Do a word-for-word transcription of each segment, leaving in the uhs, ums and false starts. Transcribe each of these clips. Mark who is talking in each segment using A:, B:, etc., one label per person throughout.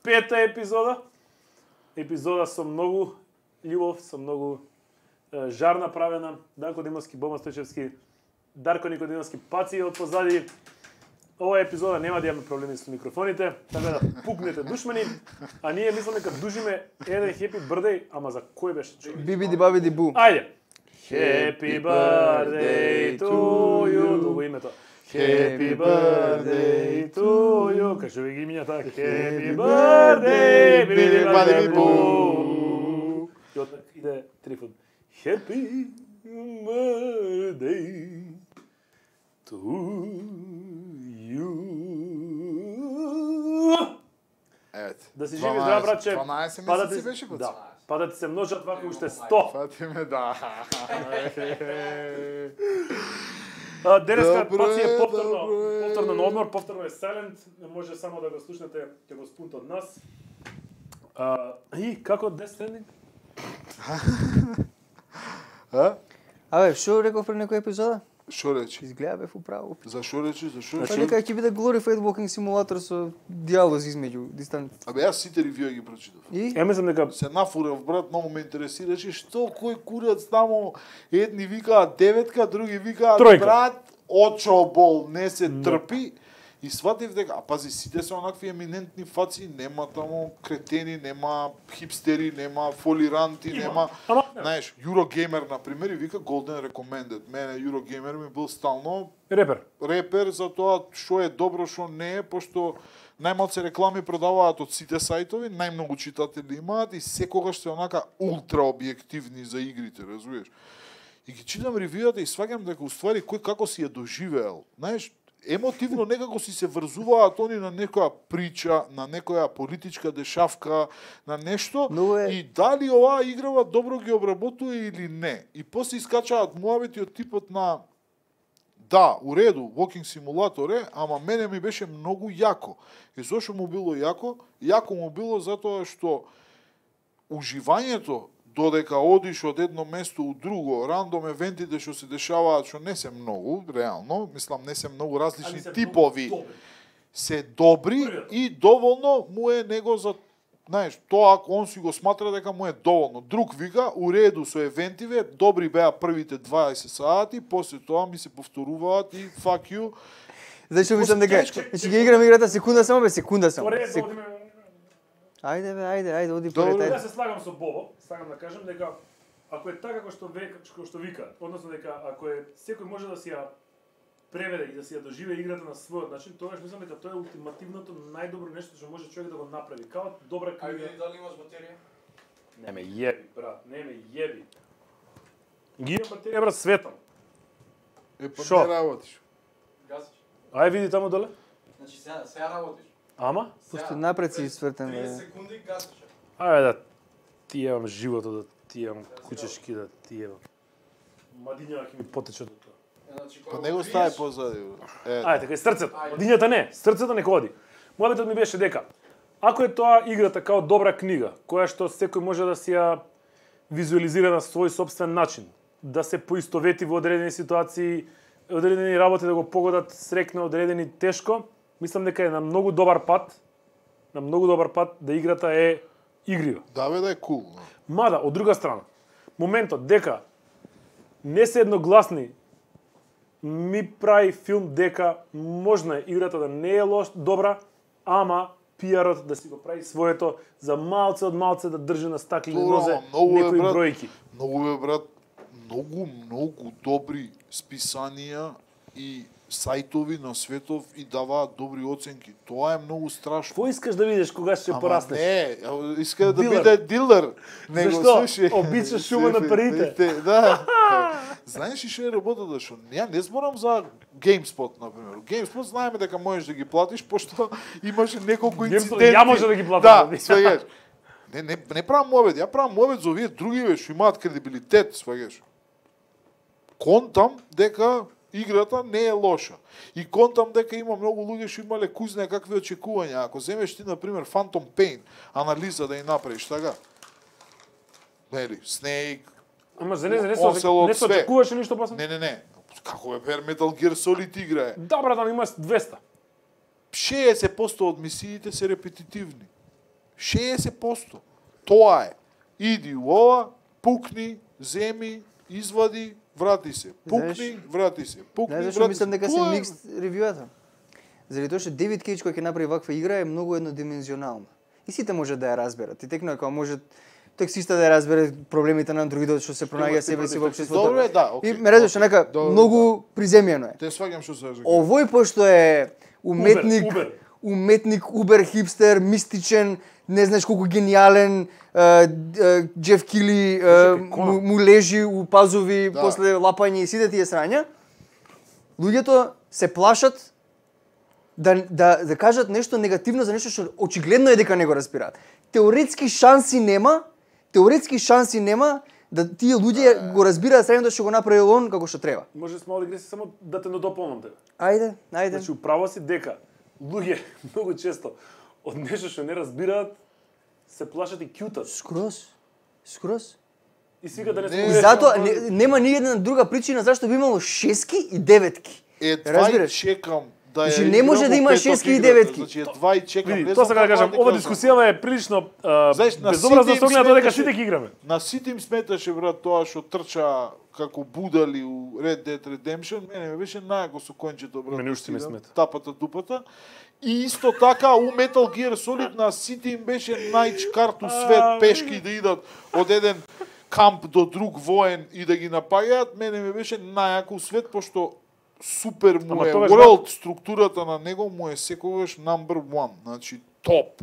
A: Пета епизода. Епизода со многу љубов, со многу е, жар направена. Данко Димовски, Бома Стојчевски, Дарко Никодимовски паци од позади. Ова епизода нема да имаме проблеми со микрофоните, така да пукнете душмани, а ние мислиме дека дужиме еден happy birthday, ама за кој беше човек?
B: Бибиди бабиди бу.
A: Ајде. Happy birthday to you. Долго името. Happy birthday to you. Кажи ви ги имињата. Happy birthday, бибиди бабиди бу. Иде Трифон. Happy birthday to you.
C: Ето.
A: Да си живи здрав, братче.
C: дванаесет
A: Па да
C: месеци
A: ти-
C: беше под.
A: Да. Па да ти се множат вака уште сто.
C: Фатиме, да.
A: А, Денеска
C: Добро
A: паци е
C: е,
A: повторно,
C: добро е.
A: повторно на одмор, повторно е silent, може само да го слушнете ќе го спунт од нас. А, и како Death Stranding?
C: А?
B: Абе, шо реков пред некој епизода?
C: Шо речи?
B: Изгледа бев управо.
C: За шо речи? За шо
B: Па
C: речи?
B: нека ќе биде glorified walking simulator со диалози измеѓу дистанци.
C: Абе, јас сите ревјуа ги прочитав.
B: И
A: Ја мислам дека
C: Се нафурав, брат, многу ме интересираше што кој курац таму, едни викаат деветка, други викаат
A: Тројка.
C: брат, очобол, не се трпи. И сватив дека, а пази, сите се онакви еминентни фаци, нема таму кретени, нема хипстери, нема фолиранти,
A: Има.
C: нема...
A: Ама,
C: Знаеш, Eurogamer, например, и вика Golden Recommended. Мене Eurogamer ми бил стално
A: репер.
C: репер за тоа што е добро, што не е, пошто најмалце реклами продаваат од сите сајтови, најмногу читатели имаат и секогаш се онака ултра објективни за игрите, разбираш. И ги читам ревјуата и сваќам дека уствари кој како си е доживеел. Знаеш, емотивно некако си се врзуваат они на некоја прича, на некоја политичка дешавка, на нешто,
B: Но е-
C: и дали оваа играва добро ги обработува или не. И после искачаат муабети од типот на да, у реду, Walking Simulator е, ама мене ми беше многу јако. И зошто му било јако? Јако му било затоа што уживањето додека одиш од едно место у друго, рандом евентите што се дешаваат, што не се многу, реално, мислам не се многу различни
A: се
C: типови,
A: многу добри.
C: се добри и доволно му е него за, знаеш, тоа ако он си го сматра дека му е доволно. Друг вика, у реду со евентиве, добри беа првите дваесет сати, после тоа ми се повторуваат и fuck you.
B: зашто мислам дека
C: Тешко.
B: значи ги играм играта секунда само бе, секунда само.
A: Поред,
B: Сек-
A: одиме...
B: Ајде бе, ајде, ајде, оди
C: Добро.
B: поред,
A: Ја
B: ајде.
A: се слагам со Бобо, сакам да кажам дека ако е така како што века, како што вика, односно дека ако е секој може да си ја преведе и да си ја доживее играта на својот начин, тогаш мислам дека тоа е ултимативното најдобро нешто што може човек да го направи. Као добра
D: Ајде,
A: книга.
D: дали имаш батерија?
A: Не ме јеби, брат, не ме јеби. Ги имам батерија, брат, светам.
C: Е, па
A: Шо?
C: не работиш.
D: Гасиш.
A: Ај види таму доле.
D: Значи сега сега работиш.
A: Ама?
B: Пошто напред си свртен, бе.
D: тридесет секунди гасиш.
A: Ајде да ти јевам животот, да ти јевам кучешки, да ти јевам. Мадињава ќе ми потече до тоа.
D: Значи
C: Па
D: кога
C: не го
D: го
C: стави
D: пиеш,
C: позади. Е,
A: Ајде, така и срцето.
D: Ајде.
A: Мадињата не, срцето нека оди. Мојабетот ми беше дека ако е тоа играта као добра книга, која што секој може да си ја визуализира на свој собствен начин, да се поистовети во одредени ситуации, одредени работи да го погодат срекно, одредени тешко, мислам дека е на многу добар пат, на многу добар пат да играта е игрива.
C: да бе да е кул. Cool,
A: Мада, од друга страна, моментот дека не се едногласни ми прави филм дека можна е играта да не е лош, добра, ама пиарот да си го прави своето за малце од малце да држи на стаклени
C: Добро,
A: нозе
C: ама многу е,
A: некои
C: брат.
A: бројки.
C: Многу е, брат, многу, многу добри списанија и сајтови на светов и даваат добри оценки. Тоа е многу страшно.
A: Кој искаш да видиш кога ќе
C: Ама
A: пораснеш?
C: не, а, иска да
A: Дилер.
C: биде дилер. Него,
A: Зашто?
C: слушай,
A: Обичаш шума на парите.
C: Да. Знаеш ли што е работата? Што ја не зборам за GameSpot, например. GameSpot знаеме дека можеш да ги платиш, пошто имаше неколку
A: GameSpot
C: инциденти.
A: ја може да ги платам.
C: Да, сваѓаш. Не, не, не правам мовет, ја правам мовет за овие други ве што имаат кредибилитет, сваѓаш. Контам дека играта не е лоша. И контам дека има многу луѓе што имале кој знае какви очекувања. Ако земеш ти, например, Phantom Pain, анализа да ја направиш, така? Нели, Snake,
A: Ама за не, за не,
C: Ocelot,
A: не се
C: све.
A: очекуваше ништо после?
C: не, не, не. Како бе, Bare Metal Gear Solid игра е.
A: Да, брат, ама има двеста.
C: шеесет проценти од мисиите се репетитивни. шеесет проценти. Тоа е. Иди у ова, пукни, земи, извади, врати се. Пукни,
B: Знаеш-
C: врати се. Пукни,
B: Знаеш зашто
C: врати
B: мислам
C: се.
B: дека се
C: Тоа е-
B: микс ревјуата? Заради тоа што Девид Кейдж кој ќе направи ваква игра е многу еднодимензионална. И сите може да ја разберат. И текно е како може таксиста да ја разбере проблемите на андроидот што се пронаѓа себе си во општеството.
C: Добро е, да, окей.
B: И ме разбираш, нека
C: Добро,
B: многу приземјено е.
C: Те сваѓам што се кажа.
B: Овој пошто е уметник,
A: Убер, Убер.
B: уметник, убер хипстер, мистичен, не знаеш колку гениален, е, е, Джеф Кили е,
A: Чекај, Конан.
B: му, му лежи у пазови
C: Да.
B: после лапање и сите тие срања. Луѓето се плашат да, да, да кажат нешто негативно за нешто што очигледно е дека не го разбираат. Теоретски шанси нема, теоретски шанси нема да тие луѓе го разбираат срањето што го направил он како што треба.
A: Може с мала дигресија само да те надополнам тебе.
B: Ајде, ајде.
A: Значи, управо си дека луѓе многу често од нешто што не разбираат се плашат и кјутат.
B: Скроз. Скроз.
A: И свика да не
C: Не.
A: се
B: И
C: Е,
B: затоа не, нема ни една друга причина зашто би имало шески и деветки.
C: Едва и
B: Разбираш?
C: чекам да ја
B: Значи, не може
C: играм
B: да
C: во
B: има
C: петок
B: шески и
C: играта.
B: деветки.
C: Значи едва и чекам.
A: Види,
C: Не
A: тоа
C: знам
A: сакам да
C: каква
A: кажам,
C: дека
A: ова
C: знам.
A: дискусијава е прилично а,
C: Знаеш, на
A: безобразна
C: сите
A: со
C: им
A: оглед на тоа дека
C: сметаше-
A: сите ги играме.
C: На сите им сметаше, брат, тоа што трча како будали у Red Dead Redemption. Мене ме беше најако со кончето, брат.
A: Мене уште ми
C: да
A: смета.
C: Тапата, дупата. И исто така у Metal Gear Solid на сите им беше најчкарту свет,
A: А,
C: пешки да идат од еден камп до друг воен и да ги напаѓаат. Мене ме беше најако свет, пошто супер му
A: Ама
C: е
A: тогаш,
C: world, структурата на него му е секогаш number one, значи топ.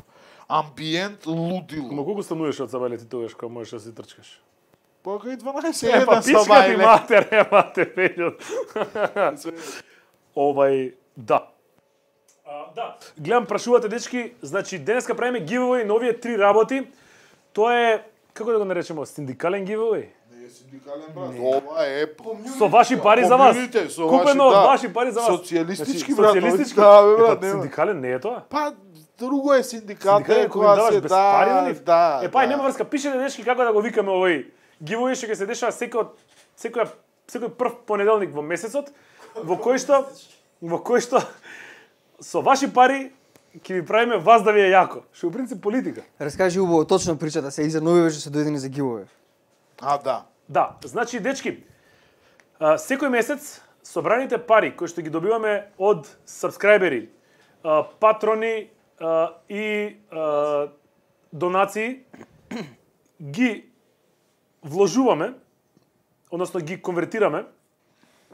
C: Амбиент лудило.
A: Ама колку стануваш од сабајле ти тогаш кога можеш да си трчкаш?
C: Па кај дванаесет
A: Е, па
C: еден
A: пичка ти
C: сабајле.
A: матер, е мате пењот. Овај, да. А, да, гледам прашувате дечки, значи денеска правиме giveaway на овие три работи. Тоа е, како да го наречеме, синдикален giveaway?
C: Не е синдикален брат. Ова е
A: Со ваши пари за вас.
C: Комјуните, со
A: Купено
C: ваши,
A: од
C: да.
A: ваши пари за вас.
C: Социјалистички,
A: Значи,
C: брат.
A: социјалистички?
C: Да, бе,
A: Е,
C: брат,
A: па,
C: нема.
A: синдикален не е тоа?
C: Па друго е синдикат,
A: Синдикален
C: е
A: кој
C: кога
A: даваш
C: се
A: без
C: да,
A: пари, нели?
C: да.
A: Е, па,
C: да.
A: нема врска, пишете дечки како да го викаме овој giveaway што ќе се дешава секој секој секој прв понеделник во месецот, во кој што во кој што со ваши пари ќе ви правиме вас да ви е јако. Што е у принцип политика.
B: Раскажи убаво точно причата се и за нови што се дојдени за гивове.
C: А, да.
A: Да, значи дечки, а, секој месец собраните пари кои што ги добиваме од сабскрајбери, а, патрони а, и а, донации ги вложуваме, односно ги конвертираме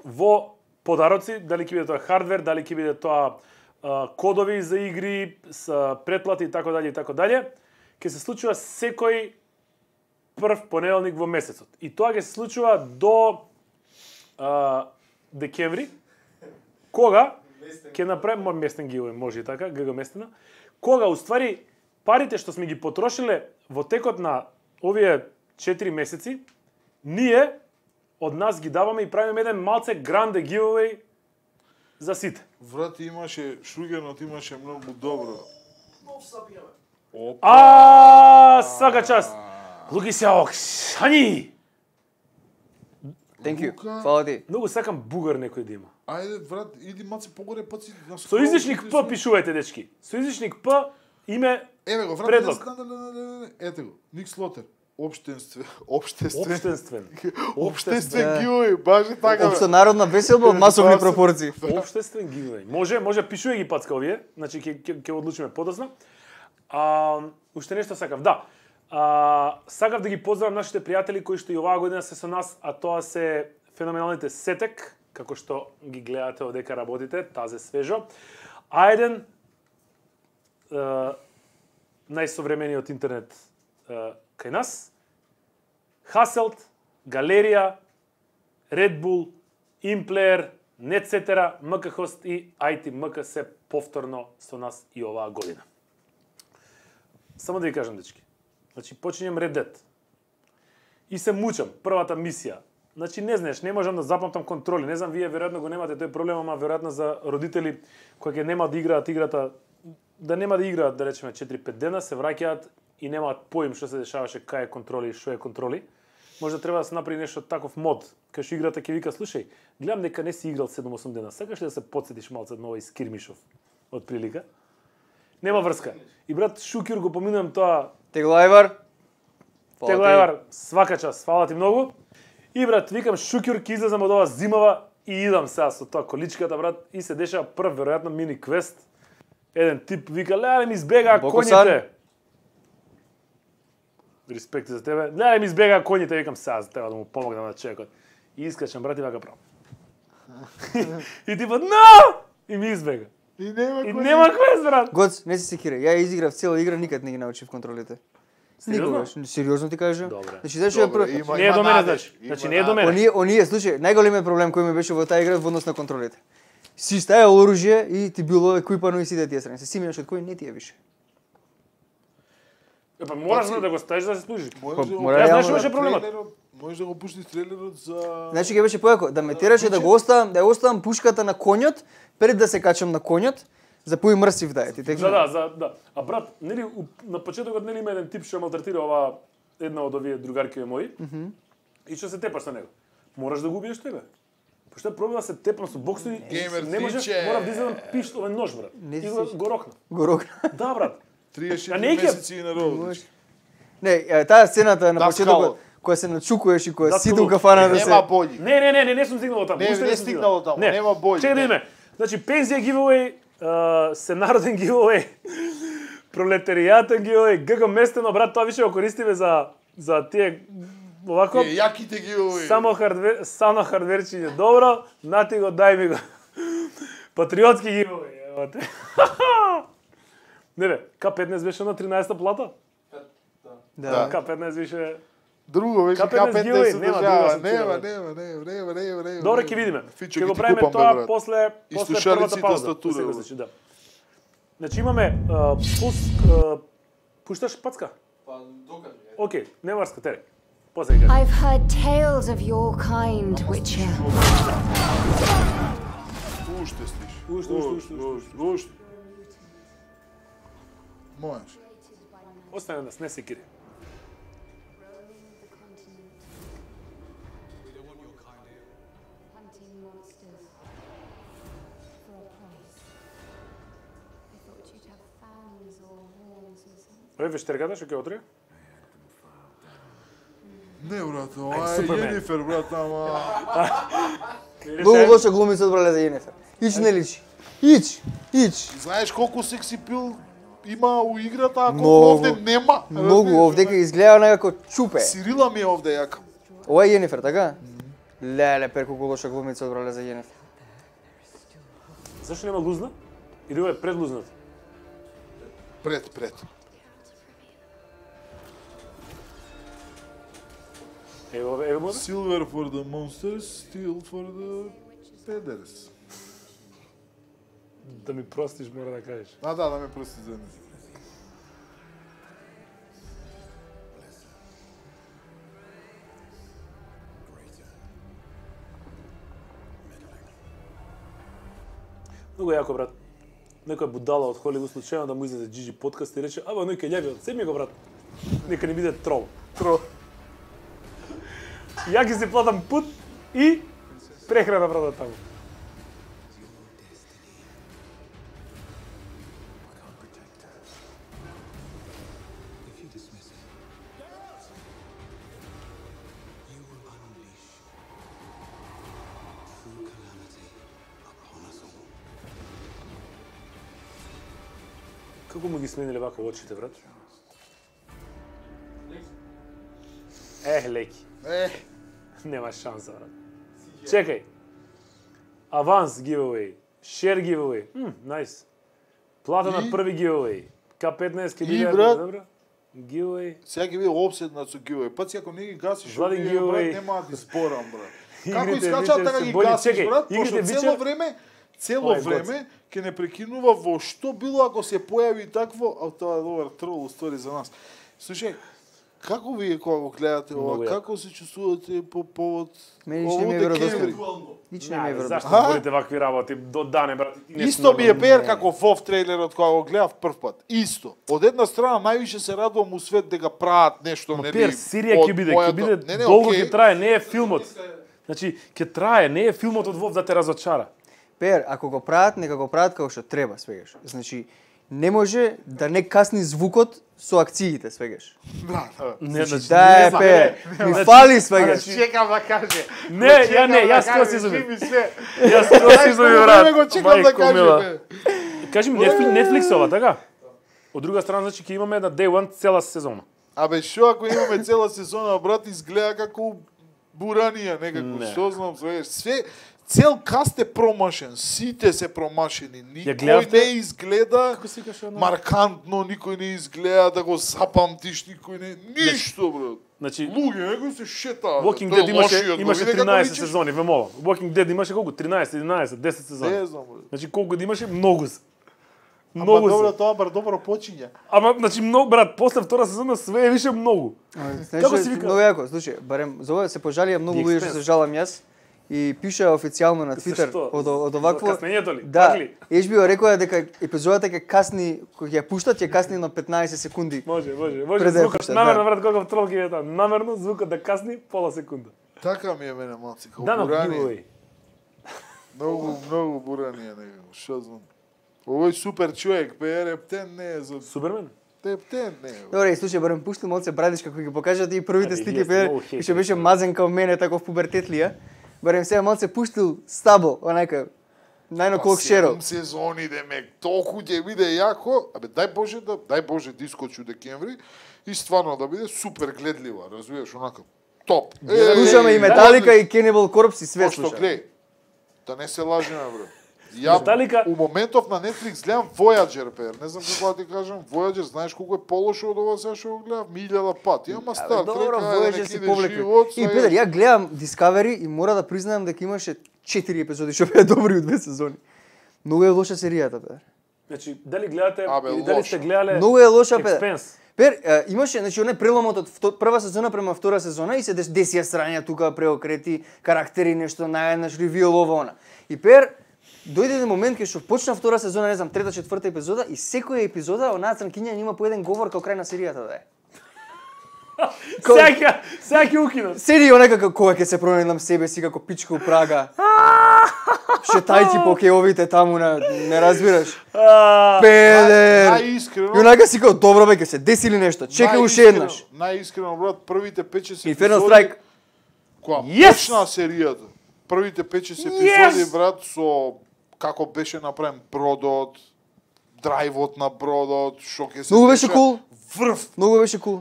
A: во подароци, дали ќе биде тоа хардвер, дали ќе биде тоа а, кодови за игри, с претплати и така дале и така дале, ќе се случува секој прв понеделник во месецот. И тоа ќе се случува до а, декември, кога ќе направиме местен гивој, може и така, ГГ местена, кога уствари парите што сме ги потрошиле во текот на овие четири месеци, ние од нас ги даваме и правиме еден малце гранде гивој за сите.
C: Врат имаше, Шугенот имаше многу добро.
D: Нов саб имаме.
C: Опа.
A: А, сака час. Луки Сјаок, шани!
B: Thank you.
C: Лука.
B: Фала ти.
A: Многу сакам бугар некој да има.
C: Ајде, врат, иди маце погоре, паци.
A: Со излишник П пишувајте, дечки. Со излишник П име
C: Еве го, врат,
A: предлог.
C: не, не, не, не, не, ете го. Ник Слотер. Обштенствен. Обштенствен.
A: Обштенствен.
C: Обштенствен
B: Да.
C: гиој, баш и така. бе.
B: Општенародна веселба од масовни
C: Тоа се-
B: пропорции.
A: Обштествен гивеј. Може, може пишувај ги пацка овие, значи ќе ќе ќе одлучиме подоцна. А, уште нешто сакав, да. А, сакав да ги поздравам нашите пријатели кои што и оваа година се со нас, а тоа се феноменалните Сетек, како што ги гледате одека работите, тазе свежо. Ајден, најсовремениот интернет е, кај нас, Хаселт, Галерија, Red Bull, Implayer, Netcetera, МКХост и ай ти ем ка се повторно со нас и оваа година. Само да ви кажам, дечки. Значи, почињам Red Dead. И се мучам, првата мисија. Значи, не знаеш, не можам да запамтам контроли. Не знам, вие веројатно го немате тој проблем, ама веројатно за родители кои ќе нема да играат играта, да нема да играат, да речеме, четири-пет дена, се враќаат и немаат поим што се дешаваше, кај е контроли и што е контроли. Може да треба да се направи нешто таков мод, кај што играта ќе вика, слушај, гледам дека не си играл седум-осум дена, сакаш ли да се потсетиш малце на овој скирмишов, од прилика? Нема врска. И брат Шукир го поминувам тоа.
B: Теглајвар.
A: Теглајвар, свака час, фала ти многу. И брат, викам Шукир, ќе излезам од ова зимава и идам сега со тоа количката, брат, и се дешава прв веројатно мини квест. Еден тип вика, леле ми избегаа коњите. Респект за тебе. Леле ми избегаа коњите, викам сега за треба да му помогнам на човекот. И искачам, брат, и вака право. И типот, но! И ми избега.
C: И нема
A: И
C: кој-
A: нема квест, брат.
B: Гоц, не се секирай. Ја изиграв цела игра, никад не ги научив контролите.
A: Сериозно?
B: Никогаш. Сериозно ти кажам.
A: Добре.
B: Значи, зашто е
C: Добре,
B: прв...
C: има-
A: Не е
C: има
A: до мене,
C: надеж,
A: значи.
C: има
A: Значи, не е до
C: надеж.
A: мене.
B: Оние, оние, слушај, најголемиот проблем кој ми беше во таа игра во однос на контролите. Си ставил оружје и ти било еквипано и сите тие страни. Се симеаш од кој не ти е више.
A: Епа мораш
C: Паци.
A: да го ставиш да се служи.
C: Можеш да го
B: мора
A: Јас знаеш
B: реално
A: што беше
B: да-
A: проблемот?
C: трейлерот- Можеш да го пуштиш трейлерот за...
B: Значи ќе беше појако да ме тераше да го оставам, да ја оставам пушката на конјот пред да се качам на конјот, за пои мрсив да е. Ти тек
A: За да, за да. А брат, нели у- на почетокот нели има еден тип што малтретира ова една од овие другарки мои. И што се тепаш со него. Мораш да го убиеш тебе. Пошто е проблем да се тепам со боксови,
C: Геймер
A: не можеш,
C: тиче.
A: морам да изедам пиштол, овој нож, брат.
B: Не
A: И
B: си
A: го,
B: сиш.
A: го рокна.
B: го рокна.
A: Да, брат.
C: триесет
A: А не ќе-
C: месеци и на род.
B: Може. Не, е, таа сцената на
C: Да,
B: почетокот која се начукуваш и која
A: Да,
B: сите у
A: скалот.
B: кафана да се
C: Нема бољи.
A: Не, не, не, не, не сум стигнал таму.
C: Не,
A: Уште
C: не
A: сум
C: стигнал таму,
A: Не.
C: нема бољи,
A: Чекај да
C: не.
A: видиме. Значи пензија giveaway, uh, сенароден giveaway, пролетаријатен giveaway, ГГ местено, брат, тоа више го користиме за за тие овако.
C: Е, јаките ги овој.
A: Само хардвер, само хардверчиње добро, нати го, дај ми го. Патриотски giveaway, ево те. Не бе, К петнаесет беше на тринаесетта плата?
B: Да.
A: К петнаесет беше...
C: Друго беше
A: К петнаесет
C: К петнаесет
A: giveaway,
C: се
A: нема
C: држава.
A: друга
C: Нема,
A: асоцирана.
C: нема, нема, нема, нема, нема.
A: Добре, ќе видиме.
C: Фичо,
A: Ќе
C: ќе
A: го
C: ти
A: правиме
C: купам,
A: тоа
C: бе, брат.
A: после
C: И
A: после
C: слушалици
A: првата
C: и
A: пауза.
C: тастатура,
A: После го
C: бе.
A: значи, да. Значи имаме а, пуск, а, пушташ пацка?
D: Па докажи. е.
A: Океј, не врска, тере. После ќе кажам.
E: I've heard tales of your kind, Witcher.
C: Уште стиш.
A: Уште, уште, уште, уште.
C: уште. Можеш.
A: Остане нас, не се кири.
E: Hunting monsters for a price. I thought you'd have fangs or horns or something.
A: Ове вештерката што ќе отре?
C: Не, брат, ова е
A: Супермен.
C: Јенифер, брат, ама...
B: Многу лоша глумица одбрале за Јенефер. Ич не личи. Ич, ич.
C: Знаеш колку секси пил има у играта, а колку
B: Многу.
C: овде нема?
B: Многу
C: Разбираш,
B: овде ќе изгледа некако чупе.
C: Сирила ми е овде јака.
B: Ова е Јенефер, така? Леле, пер колку лоша глумица одбрале за Јенефер.
A: Зашто нема лузна? Или ова е пред лузната?
C: Пред, пред.
A: Ево, ове, ево му.
C: Silver for the monsters, steel for the peders.
A: Да ми простиш, мора да кажеш.
C: А, да, да ме прости за едно.
A: Многу јако, брат. Некоја будала од Холивуд случајно да му излезе Джиджи подкаст и рече, ама оној ке љави, семи го, брат. Нека не биде трол.
B: Тро.
A: Ја ги се платам пут и прехрана, брат, таму. Како му ги смениле вака очите, брат? Ех, леки.
C: Е,
A: Нема шанса, брат. Чекај. Аванс giveaway, share giveaway. Мм, nice. Плата на
C: И-
A: први giveaway. К петнаесет ќе
C: И,
A: биде
C: брат,
A: добро. Giveaway.
C: сега ќе биде обседнат со giveaway. Паци ако не ги гасиш,
A: Влади
C: овие,
A: giveaway.
C: брат, нема да ти зборам, брат. Како
A: Игрите
C: искачаат
A: вечер
C: така
A: се
C: ги
A: боли.
C: гасиш,
A: Чекај,
C: брат,
A: игрите
C: пошто
A: вечер-
C: цело време цело
A: Ова е
C: време ќе не прекинува во што било ако се појави такво, а тоа е добар трол стори за нас. Слушај, како вие кога го гледате ова,
A: Многу јако.
C: како се чувствувате по повод
B: Мене ништо не ми е
C: овој
B: веродостојно.
C: декември?
B: Нич не ми е
A: Не,
B: веродостојно.
A: зашто
C: А?
A: говорите вакви работи до дане, брат? Ти не си
C: Исто ми е
A: нормален.
C: пер како вов трейлерот кога го гледав прв пат. Исто. Од една страна највише се радувам у свет дека прават нешто, нели?
A: Пер, серија
C: од
A: ќе биде,
C: мојата-
A: ќе биде
C: Не, не,
A: долго
C: окей.
A: ќе трае, не е филмот. Значи, ќе трае, не е филмот од Вов да те разочара.
B: Пер, ако го прават, нека го прават како што треба, свегаш. Значи, не може да не касни звукот со акциите, свегаш.
C: Да, да.
A: Не,
B: Значи, да е,
A: знам,
B: пер,
A: не,
B: ми
A: значи,
B: фали, свегаш.
C: Чекам да каже.
A: Не, ја не, јас тоа си изумив. Јас тоа си изумив,
C: Време
A: брат.
C: го чекам да
A: Мајко мила.
C: каже.
A: Кажи ми, Netflix, Netflix ова, така? Од друга страна, значи, ќе имаме на Day One цела сезона.
C: Абе, шо ако имаме цела сезона, брат, изгледа како буранија некако,
A: Не.
C: што знам, све, све цел каст е промашен, сите се промашени,
A: Ја
C: никој
A: гледавте?
C: не изгледа
A: Како се каше оно?
C: маркантно, никој не изгледа да го запамтиш, никој не, ништо, брат.
A: Значи,
C: Луѓе, некој се шетаат.
A: Walking
C: Тој
A: Dead имаше,
C: лошиот, го
A: имаше
C: виде како
A: тринаесет
C: личиш?
A: сезони, ве молам. Walking Dead имаше колку? тринаесет, единаесет, десет сезони.
C: Не знам, брат.
A: Значи, колку да имаше? Многу се.
C: Ама
A: Многу
C: добро,
A: се.
C: тоа бар добро почиња.
A: Ама, значи, многу, брат, после втора сезона све е више многу.
B: Знаеш,
A: Како си вика?
B: Многу јако, слушај, барем за ова се пожалија многу
A: The
B: луѓе што
A: Expanse.
B: се жалам јас и пиша официјално на Твитер
A: Зашто?
B: од од
A: За
B: овакво.
A: каснењето ли?
B: Да,
A: Пак ли?
B: Еш би рекоа дека епизодата ќе касни, кога ќе ја пуштат, ќе касни на петнаесет секунди.
A: Може, може, може.
B: Пред да ја
A: Звукот,
B: пуштат,
A: намерно,
B: да.
A: брат, каков трол ќе е тоа. Намерно, звукот да касни пола секунда.
C: Така ми е мене малци, како
A: Да, на
C: буранија.
A: giveaway.
C: Многу, многу буранија некако, што знам. Овој супер човек, пе Рептен не е за
A: Супермен?
C: Рептен не е.
B: Добре, и слушај, барем пушти малце брадиш како ќе покажат и првите
A: Ајде,
B: стики
A: вие сте
B: пе,
A: многу
B: и
A: хейтери.
B: што беше мазен као мене таков пубертет ли ја. Барем сега малце пуштил стабл, онака најно колк шеро.
C: Седум сезони демек, толку ќе биде јако. Абе дај Боже да дај Боже да искочи у декември и стварно да биде супер гледлива, разбираш, онака топ.
B: Слушаме и Металика и Cannibal Corpse и све
C: Пошто
B: слушаме.
C: глеј, да не се лажеме, бре. Ја
A: Металика-
C: у моментов на Netflix гледам Voyager, пер. Не знам како да ти кажам, Voyager, знаеш колку е полошо од ова сега што го гледав? Милјада пати. Ама
B: Абе,
C: Star
B: добро,
C: Trek, ајде,
B: Voyager
C: нека
B: си
C: иде
B: повлекли.
C: живот,
B: И
C: сега-
B: Петар, ја гледам Discovery и мора да признаам дека имаше четири епизоди што беа добри од две сезони. Многу е лоша серијата, Петар.
A: Значи, дали гледате,
C: Абе,
A: или дали
C: лошо.
A: сте гледале
B: Многу е лоша, Петар.
A: Expanse?
B: Пер, е, имаше, значи, оне преломот од вто- прва сезона према втора сезона и се дес, десија срања тука, преокрети, карактери, нешто, наеднаш, ревил, ова, она. И Пер, дојде еден момент кај што почна втора сезона, не знам, трета, четврта епизода и секоја епизода онаа црнкиња има по еден говор као крај на серијата да е. Ко-
A: Сега, ќе- сега ќе укинат.
B: Седи онека како кога ќе се променам себе си како пичка у Прага. Шетајќи по кеовите таму на не разбираш.
A: А,
B: Педер.
C: Најискрено.
B: И онака си како добро бе ќе се деси ли нешто. Чекај уште
C: најискрено-
B: еднаш.
C: Најискрено, брат, првите пет-шест
B: Inferno Strike.
C: Кога
A: Yes!
C: почна серијата, првите пет-шест
A: Yes!
C: епизоди, брат, со како беше направен бродот, драйвот на бродот, што ќе се
B: Многу беше
C: деша,
B: кул.
C: Врв,
B: Многу беше кул.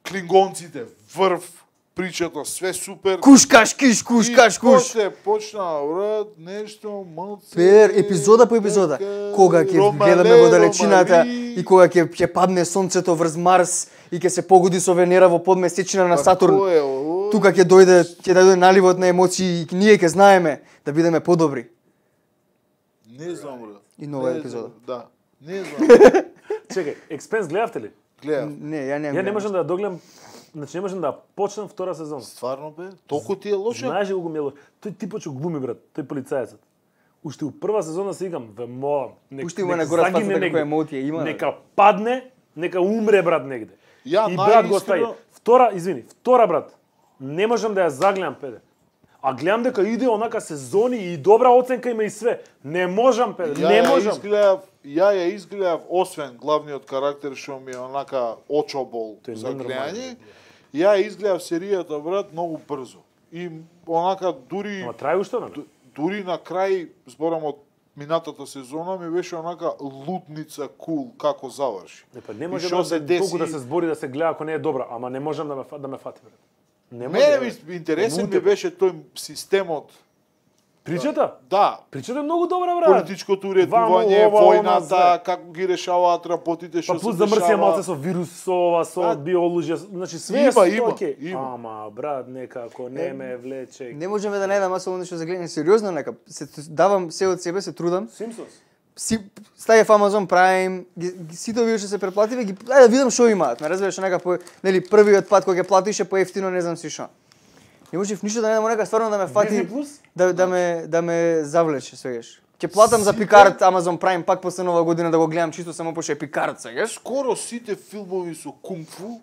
C: клингонците, врв, причата, све супер.
B: Куш каш киш, куш
C: И
B: каш куш.
C: после почна, брат, нешто малце.
B: Пер, епизода по епизода.
C: така,
B: Кога ќе
C: Ромале,
B: гледаме во далечината
C: Ромали.
B: и кога ќе ќе падне сонцето врз Марс и ќе се погоди со Венера во подмесечина на
C: Па
B: Сатурн.
C: кој е, о?
B: Тука ќе дојде, ќе дојде наливот на емоции и ние ќе знаеме да бидеме подобри.
C: Не знам, брат.
B: И нова
C: Не
B: епизода.
C: знам, Да. Не знам.
A: чекај, Expanse гледавте ли?
C: Гледам.
B: Не, ја немам.
A: Ја не
B: гледам.
A: можам да ја догледам, значи не можам да ја почнам втора сезона.
C: Стварно бе? Толку ти е лошо?
A: Знаеш ли колку ми е лошо? Тој типот што глуми, брат, тој полицајецот. Уште у прва сезона се игам, ве молам, нека
B: Пушти му на гора спасата како емотија има.
A: Нека падне, нека умре, брат, негде.
C: Ја
A: И брат го
C: најискрено-
A: остави. Втора, извини, втора, брат, не можам да ја загледам, педе. А гледам дека иде онака сезони и добра оценка има и све. Не можам, педе,
C: Ја
A: не
C: ја
A: можам.
C: изгледав, ја ја изгледав освен главниот карактер што ми е онака очобол
A: Тој е
C: за
A: ненормален,
C: гледање. Ја ја изгледав серијата, брат, многу брзо. И онака дури
A: Ама трае уште, не?
C: ду- дури на крај зборам од минатата сезона ми беше онака лутница кул cool, како заврши.
A: Не, па не
C: И
A: може
C: што
A: да
C: се
A: се
C: деси-
A: толку да се збори да се гледа ако не е добра, ама не можам да ме фа- да ме фати брат. Не
C: Мене
A: може.
C: ми интересен ми
A: Мутето.
C: беше тој системот.
A: Причата?
C: Да,
A: Причата е многу добра брат.
C: политичкото уредување,
A: Вамо, ова, она,
C: војната,
A: све.
C: како ги решаваат работите, што
A: Па
C: се
A: плюс замрсија
C: дешава.
A: малце со вирус, со ова, со
C: А,
A: биолужија, значи све
C: има,
A: е со
C: има,
A: окей.
C: има.
A: Ама брат, некако не ме влече.
B: Не можеме да најдам аз нешто за гледање сериозно, нека се давам се од себе, се трудам.
A: Симпсонс.
B: Си стаја Amazon Prime, ги, ги сите овие што се преплативе, ги ајде да видам што имаат. Ме разбираш нека по нели првиот пат кога ќе платише поевтино, не знам си што. Не можев ништо да најдам нека стварно да ме фати
A: Disney Plus?
B: да да ме да ме завлече свегаш. Ќе платам за Пикард Amazon Prime пак после нова година да го гледам чисто само пошто е Пикард сегаш.
C: Скоро сите филмови со кунг-фу,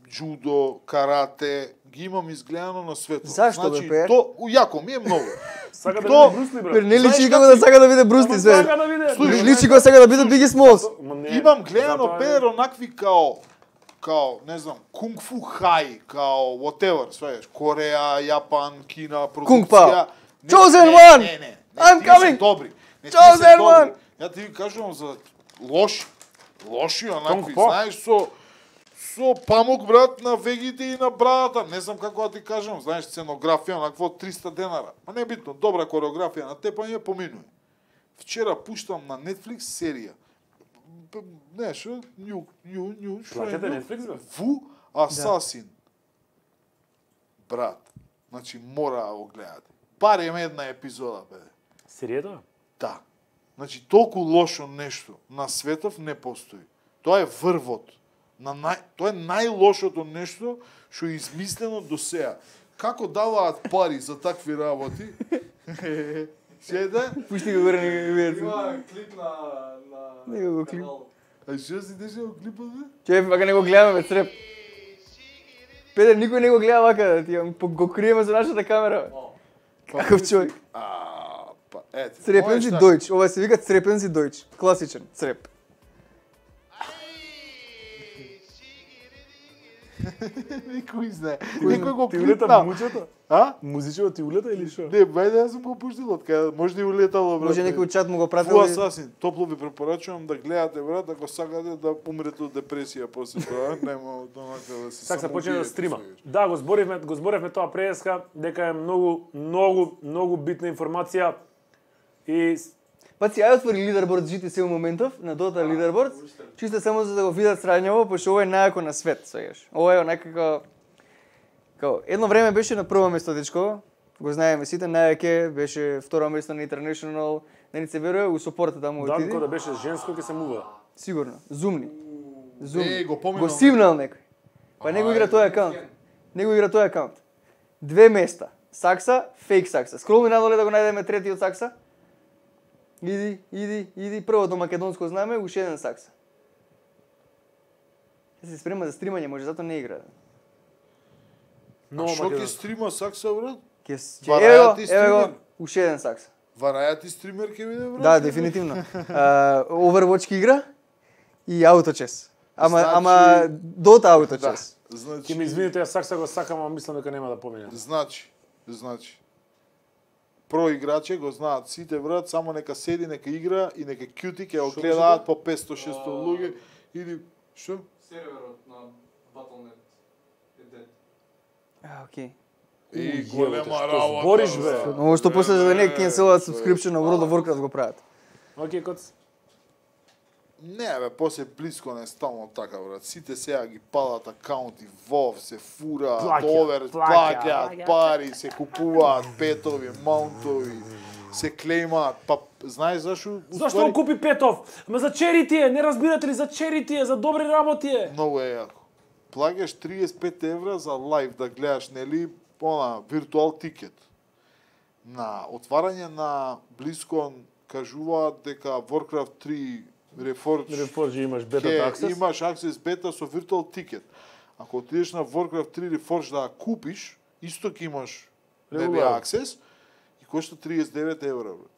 C: джудо, карате, ги имам изгледано на светот.
B: Зашто, бе,
C: значи,
B: Пер?
C: то јако ми е многу.
A: Сака да
C: То-
A: види Брусли брат.
B: Пер не
C: Знаеш
B: личи
C: како
B: како да сака да биде Брусти
A: Ама
B: све.
A: сака да види.
C: Слушај,
B: Личи како сака да биде Биги Смолс.
A: Ма не,
C: Имам гледано
A: затоа е-
C: пер онакви као као, не знам, кунг-фу хај, као whatever, свееш, Кореја, Јапан, Кина,
B: Кунг
C: продукција.
B: Пао.
C: Не,
B: Chosen
C: не,
B: one!
C: Не, не, не,
B: I'm
C: тие се
B: coming!
C: добри. Не, тие
B: Chosen
C: се добри.
B: one!
C: Ја ти ви кажувам за лоши. Лоши онакви,
A: Кунг Пао.
C: знаеш, со со памук брат на вегите и на брадата. Не знам како да ти кажам, знаеш, сценографија онакво од триста денара. Па не е битно, добра кореографија на тепање поминува. Вчера пуштам на Netflix серија. П- Не, шо? Нju, нju, нju, шо е?
A: Платете
C: нju?
A: Netflix, бе?
C: Ву Асасин. Брат, значи мора да го гледате. Барем една епизода, бе.
A: Серијата?
C: Да. Значи, толку лошо нешто на светов не постои. Тоа е врвот. На нај... Тоа е најлошото нешто што е измислено до сега. Како даваат пари за такви работи? Седа?
B: Пушти го горе нека видат.
D: Има клип на на
B: Него го клип.
D: канал.
C: А што си деше во клипот, бе?
B: Ќе вака не го гледаме бе, цреп. Педер никој не го гледа вака, да ти ја- по- го криеме за нашата камера. бе.
D: О,
B: Каков човек.
C: А, па, ете.
B: Црепензи
C: можеш
B: Дојч, ова се вика Црепензи Дојч, класичен цреп.
C: Никој знае.
B: Кој
C: Некој го
A: Ти улета
C: клипна.
A: муќето?
C: А?
A: Музичево ти улета или што?
C: Не, бајде, јас сум го пуштил од каде. Може да и улетало, брат.
B: Може некој чат му го
C: Фу
B: пратил. и-
C: Асасин, топло ви препорачувам да гледате, брат, ако сакате да умрете од депресија после тоа, нема онака да се
A: Сак се почне да
C: самоубиете,
A: стрима.
C: свегаш.
A: Да, го зборивме, го зборивме тоа преска, дека е многу, многу, многу битна информација и с-
B: Паци, ај отвори лидерборд Джи Ти Си у моментов, на Dota лидерборд, чисто само за да го видат срањаво, пошто ова е најако на свет, свегаш. Ова е онака како... Као, едно време беше на прво место, дечко, го знаеме сите, најаке беше второ место на International, не ни се верува, у сопорта таму отиди.
A: Данко да беше женско ќе се мува.
B: Сигурно, зумни. Зумни.
C: Е, го поминам.
B: Го симнал некој. Па него игра тој акаунт. Него игра тој акаунт. Две места. Сакса, фейк Сакса. Скролни надоле да го најдеме третиот Сакса. Иди, иди, иди, првото македонско знаме, уште еден Сакса. Ќе се спрема за стримање, може затоа не игра.
A: Но
C: А што ќе
A: Македон.
C: стрима Сакса, брат?
B: Ќе с- ќе
C: Вараја
B: ево го,
C: ти
B: ево го,
C: стример?
B: уште еден Сакса.
C: Вараја ти стример ќе биде, брат?
B: Да, дефинитивно. Uh, Overwatch ќе игра и Autochess. Ама
C: Значи-
B: ама Dota
C: Да.
B: Autochess.
C: Значи,
A: Ќе ми извините, јас сакса го сакам, ама мислам дека нема да помине.
C: Значи, значи. Про играче го знаат сите, брат, само нека седи, нека игра и нека кјути ќе го
A: Што
C: гледаат
A: беше
C: по петсто шесто
D: А.
C: луѓе или што?
D: серверот на Battle дот нет е дед.
B: А, окей.
C: И
A: Уј,
C: голема
A: јeboте, што
C: работа.
A: збориш, бе?
C: брат.
B: Ово што после за да не
C: Е,
B: кенселуваат
C: тоа е.
B: subscription на World of Warcraft го прават.
A: Океј, коц.
C: Не, бе, после близко не ставно така, брат. Сите сега ги падат акаунти, вов, се фура,
A: Плаќа,
C: довер,
A: плаќа,
C: плаќаат
A: плаќа.
C: пари, се купуваат петови, маунтови, се клеймаат. Па, знаеш зашо?
A: Зашто он купи Петов? Ама за черити е, не разбирате ли, за черити е, за добри работи е.
C: Многу е јако. Плагаш триесет и пет евра за лайв да гледаш, нели, она, виртуал тикет. На отварање на Близкон кажуваат дека Warcraft три Reforged
A: Reforge имаш бета
C: ќе
A: аксес.
C: имаш аксес бета со виртуал тикет. Ако отидеш на Warcraft три Reforged да ја купиш, исто ќе имаш нели
A: Регуларно.
C: аксес и кошта триесет и девет евра, брат.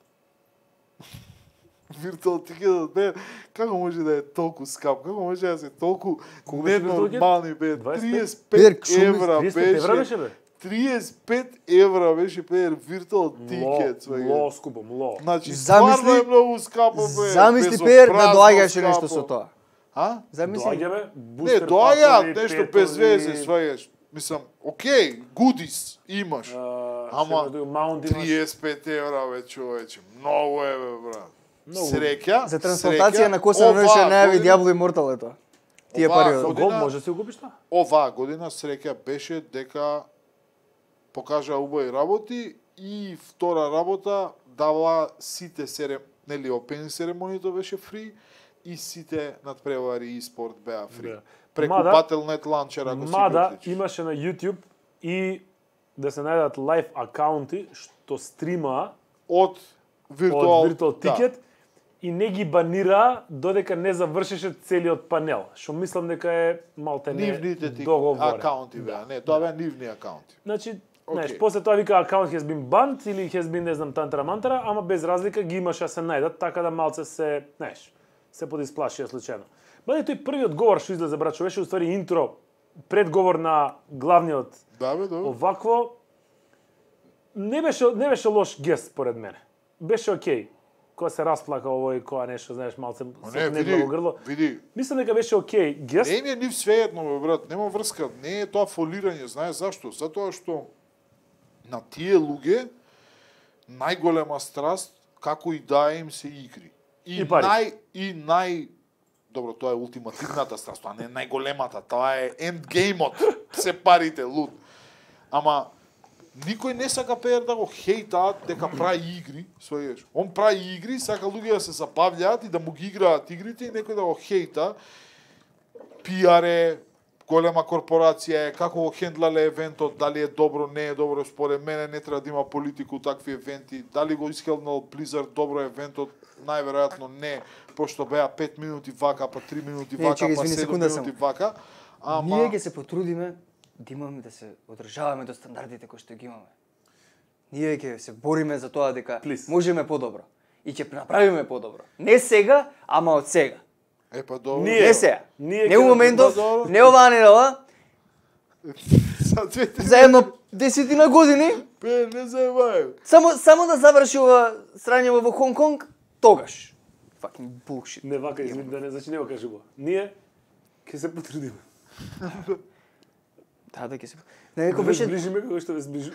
C: Виртуал тикетот бе, како може да е толку скап? Како може да се толку
A: Колку беше виртуал тикет?
C: ненормални бе?
A: дваесет и пет?
C: триесет и
B: Педер,
C: пет
B: шуми,
C: евра
A: триесет и пет евра
C: беше.
A: беше, бе?
C: триесет и пет евра беше Петер виртуал тикет.
A: Мло, мло скупо, мло.
C: Значи,
B: Замисли-
C: стварно е многу скапо, бе.
B: Замисли Пер да
C: безобразно
B: доаѓаше
C: скапо.
B: нешто со тоа.
C: А?
B: Замисли.
A: Доаѓа бе,
C: Не,
A: бустер
C: доаѓаат
A: пакови,
C: нешто
A: петови,
C: без везе, сваѓаш. Мислам, окей, гудис имаш.
A: а,
C: Ама,
A: што имаш, маунт имаш.
C: триесет и пет евра, бе, човече. Многу е, бе, брат.
A: Многу.
C: Среќа.
B: За трансплантација
C: среќа,
B: на коса на
C: оваа
B: ноќе најави
C: година-
B: Диабло и Мортал е тоа. Тие
C: Оваа
B: пари.
A: Со
B: од-
A: гол
C: година-
A: може да си го купиш тоа?
C: Оваа година среќа беше дека покажа убави работи и втора работа дава сите серем, нели опенинг церемонијата беше фри и сите надпревари и спорт беа фри.
A: Да.
C: Преку
A: Мада-
C: Battle точка net ланчер ако си
A: Мада
C: го уклучиш.
A: имаше на YouTube и да се најдат лайв акаунти што стрима
C: од виртуал
A: од Virtual Ticket и не ги банира додека не завршеше целиот панел, што мислам дека е малте не
C: нивните ти
A: договорен.
C: акаунти беа. Не, тоа беа нивни акаунти.
A: Значи,
C: Океј.
A: знаеш, после тоа вика акаунт has been banned или has been не знам тантара мантара, ама без разлика ги имаше да се најдат, така да малце се, знаеш, се подисплашија случајно. Бъде тој првиот говор што излезе, брачо, беше уствари интро, предговор на главниот.
C: Да, бе, да.
A: Овакво не беше не беше лош гест според мене. Беше окей. Кога се расплака овој, кога нешто, знаеш, малце
C: Ма
A: се
C: Не,
A: кнегла
C: види,
A: во грло.
C: види.
A: Мислам дека беше окей гест.
C: Не им е нив свеедно, бе, брат, нема врска, не е тоа фолирање, знаеш зашто? Затоа што на тие луѓе најголема страст како и да им се игри. И,
A: И пари.
C: нај и нај Добро, тоа е ултимативната страст, тоа не е најголемата, тоа е ендгеймот, се парите, луд. Ама никој не сака Пеер да го хейтаат дека прави игри, сваѓаш. Он прави игри, сака луѓе да се забавлjaат и да му ги играат игрите и некој да го хейта. Пиар е, голема корпорација е, како го хендлале евентот, дали е добро, не е добро, според мене не треба да има политику такви евенти, дали го исхелнал Blizzard добро евентот, најверојатно не, пошто беа пет минути вака, па три минути
B: Не,
C: вака,
B: чекај,
C: па
B: извини,
C: седум
B: секунда
C: минути
B: само.
C: вака. Ама
B: Ние ќе се потрудиме да имаме да се одржаваме до стандардите кои што ги имаме. Ние ќе се бориме за тоа дека
A: Please.
B: можеме подобро и ќе направиме подобро. Не сега, ама од сега.
C: е па добро.
A: Ние-
B: Не сега.
A: ние
B: Не
A: ќе
B: у моментов,
C: добро.
B: не оваа недела,
C: За две три
B: за едно десетина години,
C: Пе, не заебај.
B: само само да заврши ова срање во Хонг Конг, тогаш. Fucking bullshit.
A: Не вака, извини, да не значи не го кажи го. Ние ќе се потрудиме.
B: Да, да ќе се. Некој
A: Ве
B: беше,
A: зближиме како што ве зближи.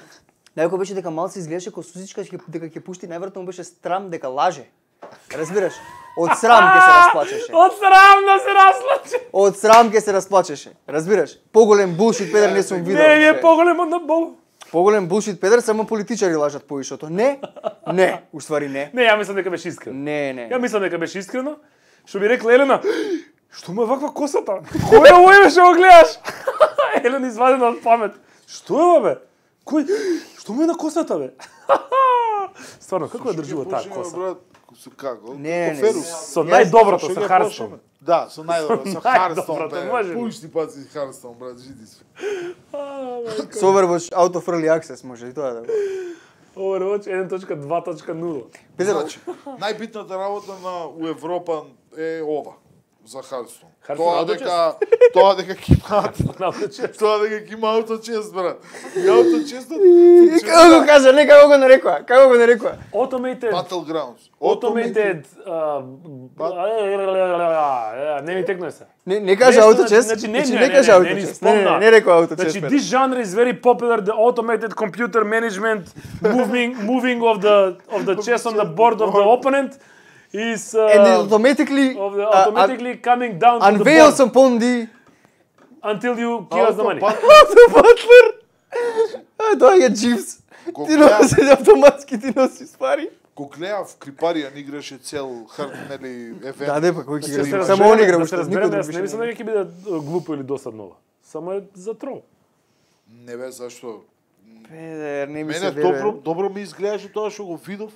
B: некој беше дека малце изгледаше како сузичка ќе- дека ќе пушти, најверојатно му беше страм дека лаже. Разбираш? Од срам ќе се расплачеше.
A: Од срам да се разлачи.
B: Од срам ќе се расплачеше. Разбираш? Поголем булшит педер не сум видел.
A: Не, не е
B: ше.
A: поголем од на Бог.
B: Поголем булшит педер само политичари лажат поишото. Не. Не, уствари не.
A: Не, ја мислам дека беше искрено.
B: Не, не.
A: Ја мислам дека беше искрено. Што би рекла Елена, што му е ваква косата? Кој е овој бе што го гледаш? Елена извадена од памет. Што е ова бе? Кој? Што му е на косата бе? Стварно, како ја држува таа коса?
C: Брат, со како?
B: Не, не, не.
C: Коферус.
A: Со најдоброто,
C: Што
A: со
C: ги
A: Харстон.
C: почнеме? Да, со најдобро, со
A: најдоброто,
C: Харстон.
A: може ли?
C: Пушти паци Харстон, брат, жиди се.
B: Со Overwatch Out of Early Access може и тоа да. го-
A: Overwatch еден точка два точка нула.
B: Педер,
C: Значи, најбитната работа на у Европа е ова за Харстон.
A: Харстон
C: Тоа
A: ауточест?
C: дека тоа дека ќе имаат
A: Научи.
C: тоа дека ќе има ауточест, брат. И ауточестот
B: И како го кажа, не како го нарекоа? Како го нарекоа?
A: Automated
C: Battlegrounds.
A: Automated uh, не ми текнува се.
B: Не, не кажа
A: Нешто,
B: ауточест.
A: значи, не,
B: Значи
A: не,
B: не
A: не,
B: кажа
A: не, не, ни
B: ауточест. Не, не,
A: спомна.
B: не рекоа ауточест.
A: Значи,
B: педер.
A: this genre is very popular, the automated computer management moving moving of the of the chess on the board of the opponent is uh,
B: And it automatically
A: of the,
B: uh,
A: automatically coming down to the
B: unveils
A: board
B: upon the
A: until you give us the money.
B: Auto Butler. А, доаѓа Дживс.
C: Го
B: Ти
C: гледав.
B: носи автоматски ти носиш пари.
C: Го гледав Крипарија не играше цел хар, нели евент.
B: Да, не, па кој
A: Да
B: ќе
A: се
B: игра?
A: разбереме-
B: Само он игра,
A: да
B: уште
A: се
B: никој
A: разбереме,
B: друг
A: јас не
B: више
A: мислам
B: не.
A: дека ќе биде uh, глупо или досадно. Само е за трол.
C: Не бе, зашто?
B: Педер, не ми се
C: Мене
B: верува.
C: добро, добро ми изгледаше тоа што го видов.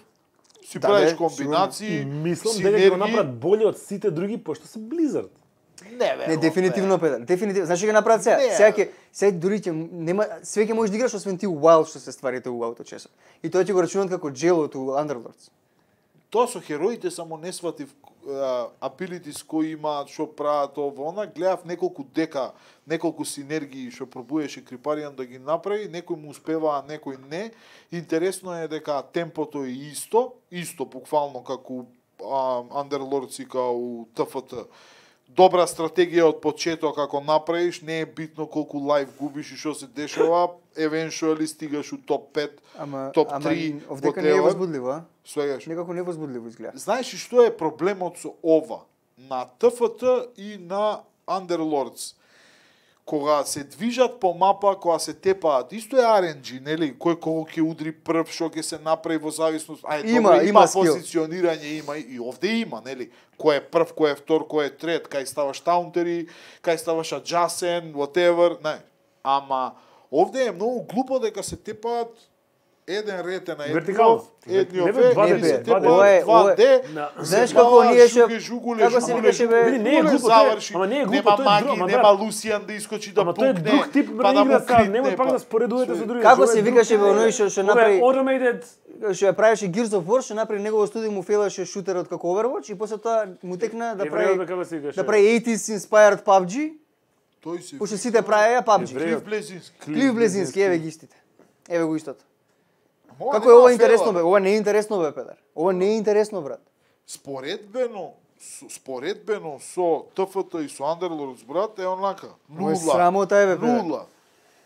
C: Си
B: Да,
C: правиш
B: бе,
C: комбинации,
A: Мислам дека ќе
C: синергии.
A: го направат боле од сите други, пошто се Blizzard.
C: Не, бе,
B: Не, дефинитивно Педер, дефинитивно. Знаеш што ќе направат сега?
C: Не.
B: Сега ќе сега дури ќе нема све ќе можеш да играш освен ти Wild што се стварите у ауточесот. И тоа ќе го рачунат како джелот у Underlords.
C: тоа со хероите само не сватив abilities кои имаат, што прават ова, она, гледав неколку дека, неколку синергии што пробуеше Крипариан да ги направи, некој му успеваа, некој не. Интересно е дека темпото е исто, исто буквално како Underlords и као Т Ф Т. Добра стратегија од почеток како направиш, не е битно колку лайф губиш и што се дешава, eventually стигаш у топ пет,
B: Ама,
C: топ
B: ама
C: три,
B: овдека не е
C: whatever.
B: возбудливо, а?
C: Свегаш.
B: Некако невозбудливо изгледа.
C: Знаеш ли што е проблемот со ова? На Т Ф Т и на Underlords. Кога се движат по мапа, кога се тепаат, исто е Ар Ен Джи, нели? Кој кого ќе удри прв, што ќе се направи во зависност. Ај,
B: Има,
C: добро,
B: има
C: има
B: скил.
C: позиционирање, има и овде има, нели? Кој е прв, кој е втор, кој е трет, кај ставаш таунтери, кај ставаш аджасен, whatever, не. Ама овде е многу глупо дека се тепаат еден ред е на едно,
A: Вертикално.
C: едни
A: Не, бе,
C: ове,
A: два
C: и
A: Д,
C: се
A: два Д.
B: Ова е-
C: тепаат два Д.
A: На-
B: Знаеш како ние ќе како се викаше бе?
A: Види, не е глупо, тоа е- ама не е глупо,
C: нема
A: тоа е
C: маги,
A: друг, ама
C: нема
A: брат.
C: Лусијан да искочи да
A: Ама тоа е
C: пукне,
A: друг тип
C: па да му
A: игра, сега
C: критне,
A: немој пак
C: па-
A: да споредувате со други.
B: Како
A: Ова
B: се
A: е
B: викаше
A: друг
B: бе
A: тип.
B: оној што што
A: Ова е
B: направи
A: Automated.
B: што ја правеше Gears of War, што направи негово студио му фейлаше шутерот како Overwatch и после тоа му текна да
A: Еврејот,
B: прави
A: бе, како се викаше?
B: да прави eighties inspired P U B G,
C: Тој се
B: пошто сите правеа P U B G.
C: Клив Блезински.
B: Клив Блезински, еве ги истите. Еве го истото.
C: Ова
B: Како
C: нема
B: е ова
C: афера,
B: интересно бе? Ова не е интересно бе, Педар. Ова не е интересно, брат.
C: Споредбено, со- споредбено со Т Ф Т и со Underlords, брат, е онака.
B: Ова е
C: Нула.
B: срамота е бе, Педар.
C: Нула.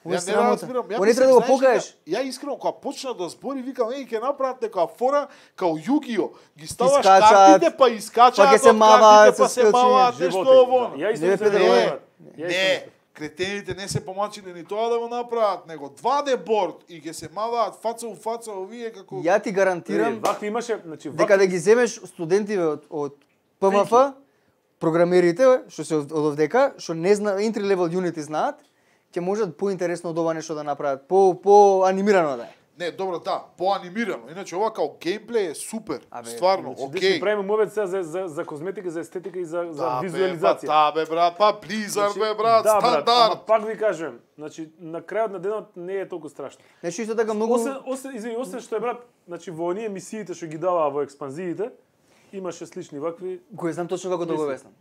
B: Ова е
C: Ја не
B: срамота.
C: разбирам. Ја
B: Ова не
C: мислам,
B: треба да го
C: знаеш дека-
B: покажеш.
C: Ја искрено кога почна да збори, викам, еј, ќе направат некоја фора као Југио. Ги ставаш
B: Искачаат,
C: картите, па искачаат
B: па ќе се
C: од
B: маваат
C: картите, па
B: со
C: се
B: скилчиња.
C: маваат нешто
A: Животи,
C: ово.
A: да. Ја исто
B: Не,
A: мислам
B: Педро,
A: да
B: ова
A: е,
B: е-
A: брат. Ја исто
C: Не,
A: мислам.
C: кретените не се помачиле ни тоа да го направат, него два Д борд и ќе се маваат фаца у фаца овие како
B: Ја ти гарантирам
A: Види, вакви имаше, значи
B: дека
A: вакви
B: да ги земеш студентиве од од П М Ф, програмерите што се од од овдека, што не зна entry level Unity знаат, ќе можат поинтересно од ова нешто да направат, по по анимирано да е.
C: Не, добро, да, поанимирано. Иначе ова као геймплей е супер.
B: Абе,
C: Стварно,
A: Значи,
C: окей.
A: okay. правиме мовет сега за, за, за козметика, за естетика и за, за
C: Да, бе,
A: визуализација.
C: Па, да, бе, брат, па Blizzard, бе, брат,
A: да, брат,
C: стандард.
A: ама пак ви кажувам, значи на крајот на денот не е толку страшно.
B: Нешто исто така многу
A: Освен, освен, извини, освен што е брат, значи во оние мисиите што ги даваа во експанзиите, имаше слични вакви.
B: кој знам точно како да го
A: Мисли.
B: обяснам.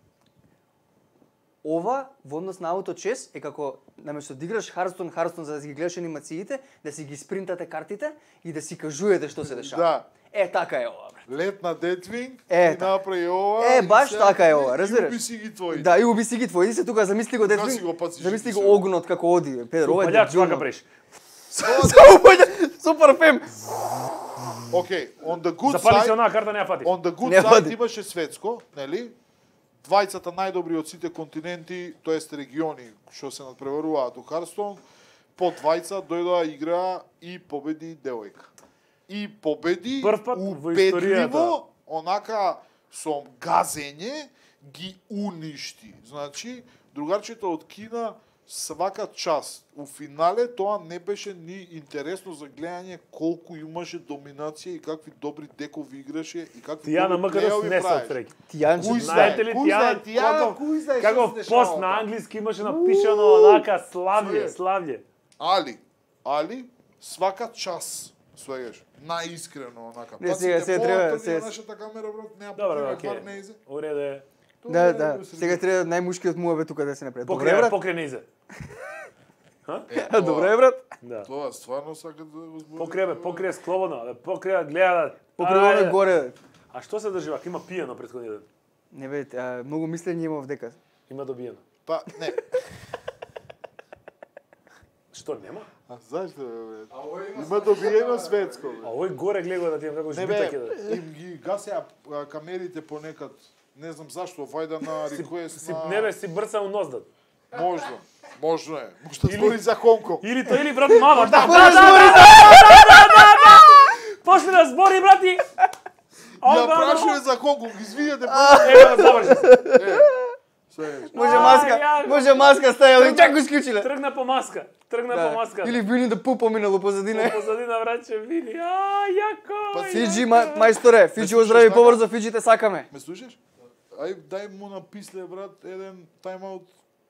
B: Ова во однос на ауточес е како наместо да играш Hearthstone, Hearthstone за да си ги гледаш анимациите, да си ги спринтате картите и да си кажувате што се дешава.
C: Да.
B: Е така е ова, брат.
C: Лет на Deathwing
B: Е,
C: и
B: така.
C: направи ова.
B: Е,
C: и
B: баш
C: сега
B: така е
C: ти-
B: ова, разбираш?
C: И уби си ги твои.
B: Да, и уби си ги твои. Се тука замисли го
C: Кога си го
B: Детвин.
C: пациш
B: Замисли
C: ги
B: го
C: се?
B: огнот како оди. Педро, ова е
A: Палјач
B: дебилно.
A: вака преш.
B: Само паѓа супер фем.
C: Окей, on the good
A: Запали се
C: side,
A: онаа карта не ја фати.
C: on the good
B: Не
C: side
B: вади.
C: имаше светско, нели? Двајцата најдобри од сите континенти, тоест региони што се надпреваруваат у Hearthstone, по двајца дојдоа игра и победи девојка. И победи
A: Прв пат во
C: убедливо,
A: историјата.
C: онака со газење ги уништи. Значи, другарчето од Кина свака час. У финале тоа не беше ни интересно за гледање колку имаше доминација и какви добри декови играше и какви
A: Тијана
C: добри
A: Макарос
C: плејови
A: не се
C: правеше.
A: отсреќи.
B: Тијанче.
C: Кој
A: Знаете ли
C: Кој знае?
A: Тијана,
C: Тијана,
A: како,
C: кој знае што
A: како
C: се дешава
A: пост на
C: таму?
A: англиски имаше напишано онака славје,
C: Све.
A: славје.
C: Али, али, свака час, свегаш, наискрено, онака.
B: Не, сега- сега треба- сега-
C: Нашата камера, брат, неа
A: Добро,
C: покрива
A: окей.
C: твар неизе.
A: Уреде е.
C: Тоа
B: Да,
C: е
B: да.
C: среди.
B: Сега треба најмушкиот муабет тука да се направи. Добре,
A: Покрај,
B: брат.
A: покрај неизе.
C: Е, тоа-
B: Добре, брат.
A: Да.
C: Тоа стварно сака да го збори.
A: Покрај, бе, покрај слободно, бе, покрај гледа.
B: Покрај
A: Ајде.
B: оној горе.
A: А што се држи вака? Има пиено претходниот ден.
B: Не бе, а, многу мислење има овдека.
A: Има добиено.
C: Па, не.
A: Што нема?
C: А зашто, бе?
D: А овој има
C: Има добиено светско,
A: А
C: бе.
A: овој горе гледа да ти како
C: Не
A: жбита
C: бе,
A: ќе
C: им ги гасеа а, камерите понекад. Не знам зашто, вајда на реквест
A: си
C: на...
A: не бе си брца у ноздат.
C: Можда. Можно е. Можда
A: Или-
C: збори за Хонконг.
A: Или тој или брат мама. Да,
B: Кој збори?
A: Почне да збори брати.
C: Ја прашуваме за Хонконг, извинете,
A: Ева заврши. се.
C: се.
B: Може
A: Ај,
B: маска,
A: ја-
B: може маска стаја, чак го исклучиле.
A: Тргна по маска. Тргна по маска.
B: Или Вини да пу поминало позадина.
A: позадина враче вини. А, јако.
C: Па,
A: јако.
B: Фиджи, ма- мајсторе, Фиджи
C: слушаш
B: оздрави
C: така?
B: побрзо, Фиджи те сакаме.
C: Ме слушаш? Ај, дај му написле, брат, еден тайм-аут.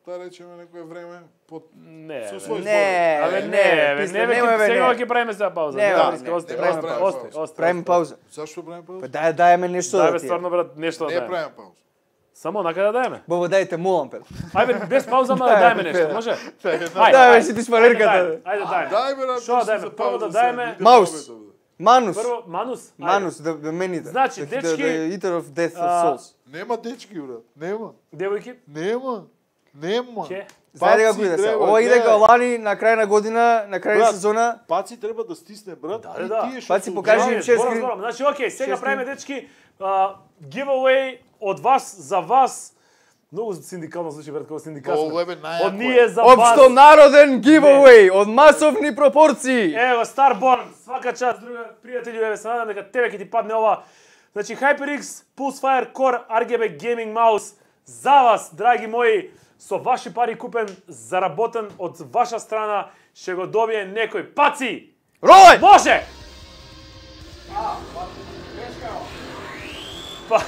C: да речеме некое време под
A: Не,
C: со
A: бе.
C: свој
B: Не,
C: збор.
A: Абе
B: не,
A: не, бе,
B: писте,
A: не, бе,
B: немој, бе,
A: сега
B: не.
A: ќе правиме сега пауза.
B: Не,
A: Не,
B: бе,
A: да,
B: не,
A: остай,
C: не
A: остай,
C: правиме
A: остай,
C: пауза.
A: остай.
B: Правиме пауза.
C: Зашто правиме пауза?
B: Па дај даеме нешто
A: Дај
B: да
A: бе,
B: ти.
A: стварно брат, нешто да
C: Не
A: дајме.
C: правиме пауза.
A: Само нака да дајме.
B: Бобо дајте молам пе.
A: Ајде без пауза, ама да
B: Дај,
A: дајме
B: бе,
A: нешто,
B: бе.
A: може?
C: Ајде,
B: Дај бе, си ти шпалерката.
A: Ајде дајме.
C: Дај бе,
A: Шо да дајме? Прво да дајме
B: Маус. Манус.
A: Прво Манус. Ајде.
B: Манус, да да мените.
A: Значи,
B: The- the-
A: дечки,
B: the Eater of Death of
A: а,
B: Souls.
C: Нема дечки, брат. Нема.
A: Девојки,
C: Нема. Нема.
A: ќе.
B: Знаете како
C: Паци
B: иде се?
C: треба,
B: Ова иде
C: гледај.
B: као лани на крај на година, на крај на
C: Брат,
B: сезона.
C: Паци треба да стисне, брат.
A: Да,
C: и
A: да.
C: тие што
B: Паци,
C: се
B: покажи
C: ужасно.
B: им шест
A: Зборам,
B: гри-
A: зборам. Значи, окей, сега
B: шест
A: правиме дечки а, giveaway од вас за вас. Многу синдикално звучи, брат, како синдикатство.
C: Ова е најако.
A: Од ние за вас.
B: Општо народен giveaway од масовни пропорции.
A: Ево, Starborn, свака час, друга пријателју, еве се надам дека тебе ќе ти падне ова. Значи, HyperX Pulsefire Core ар џи би Gaming Mouse за вас, драги мои, со ваши пари купен, заработен од ваша страна, ќе го добие некој. Паци!
B: Рој!
A: Може! Па...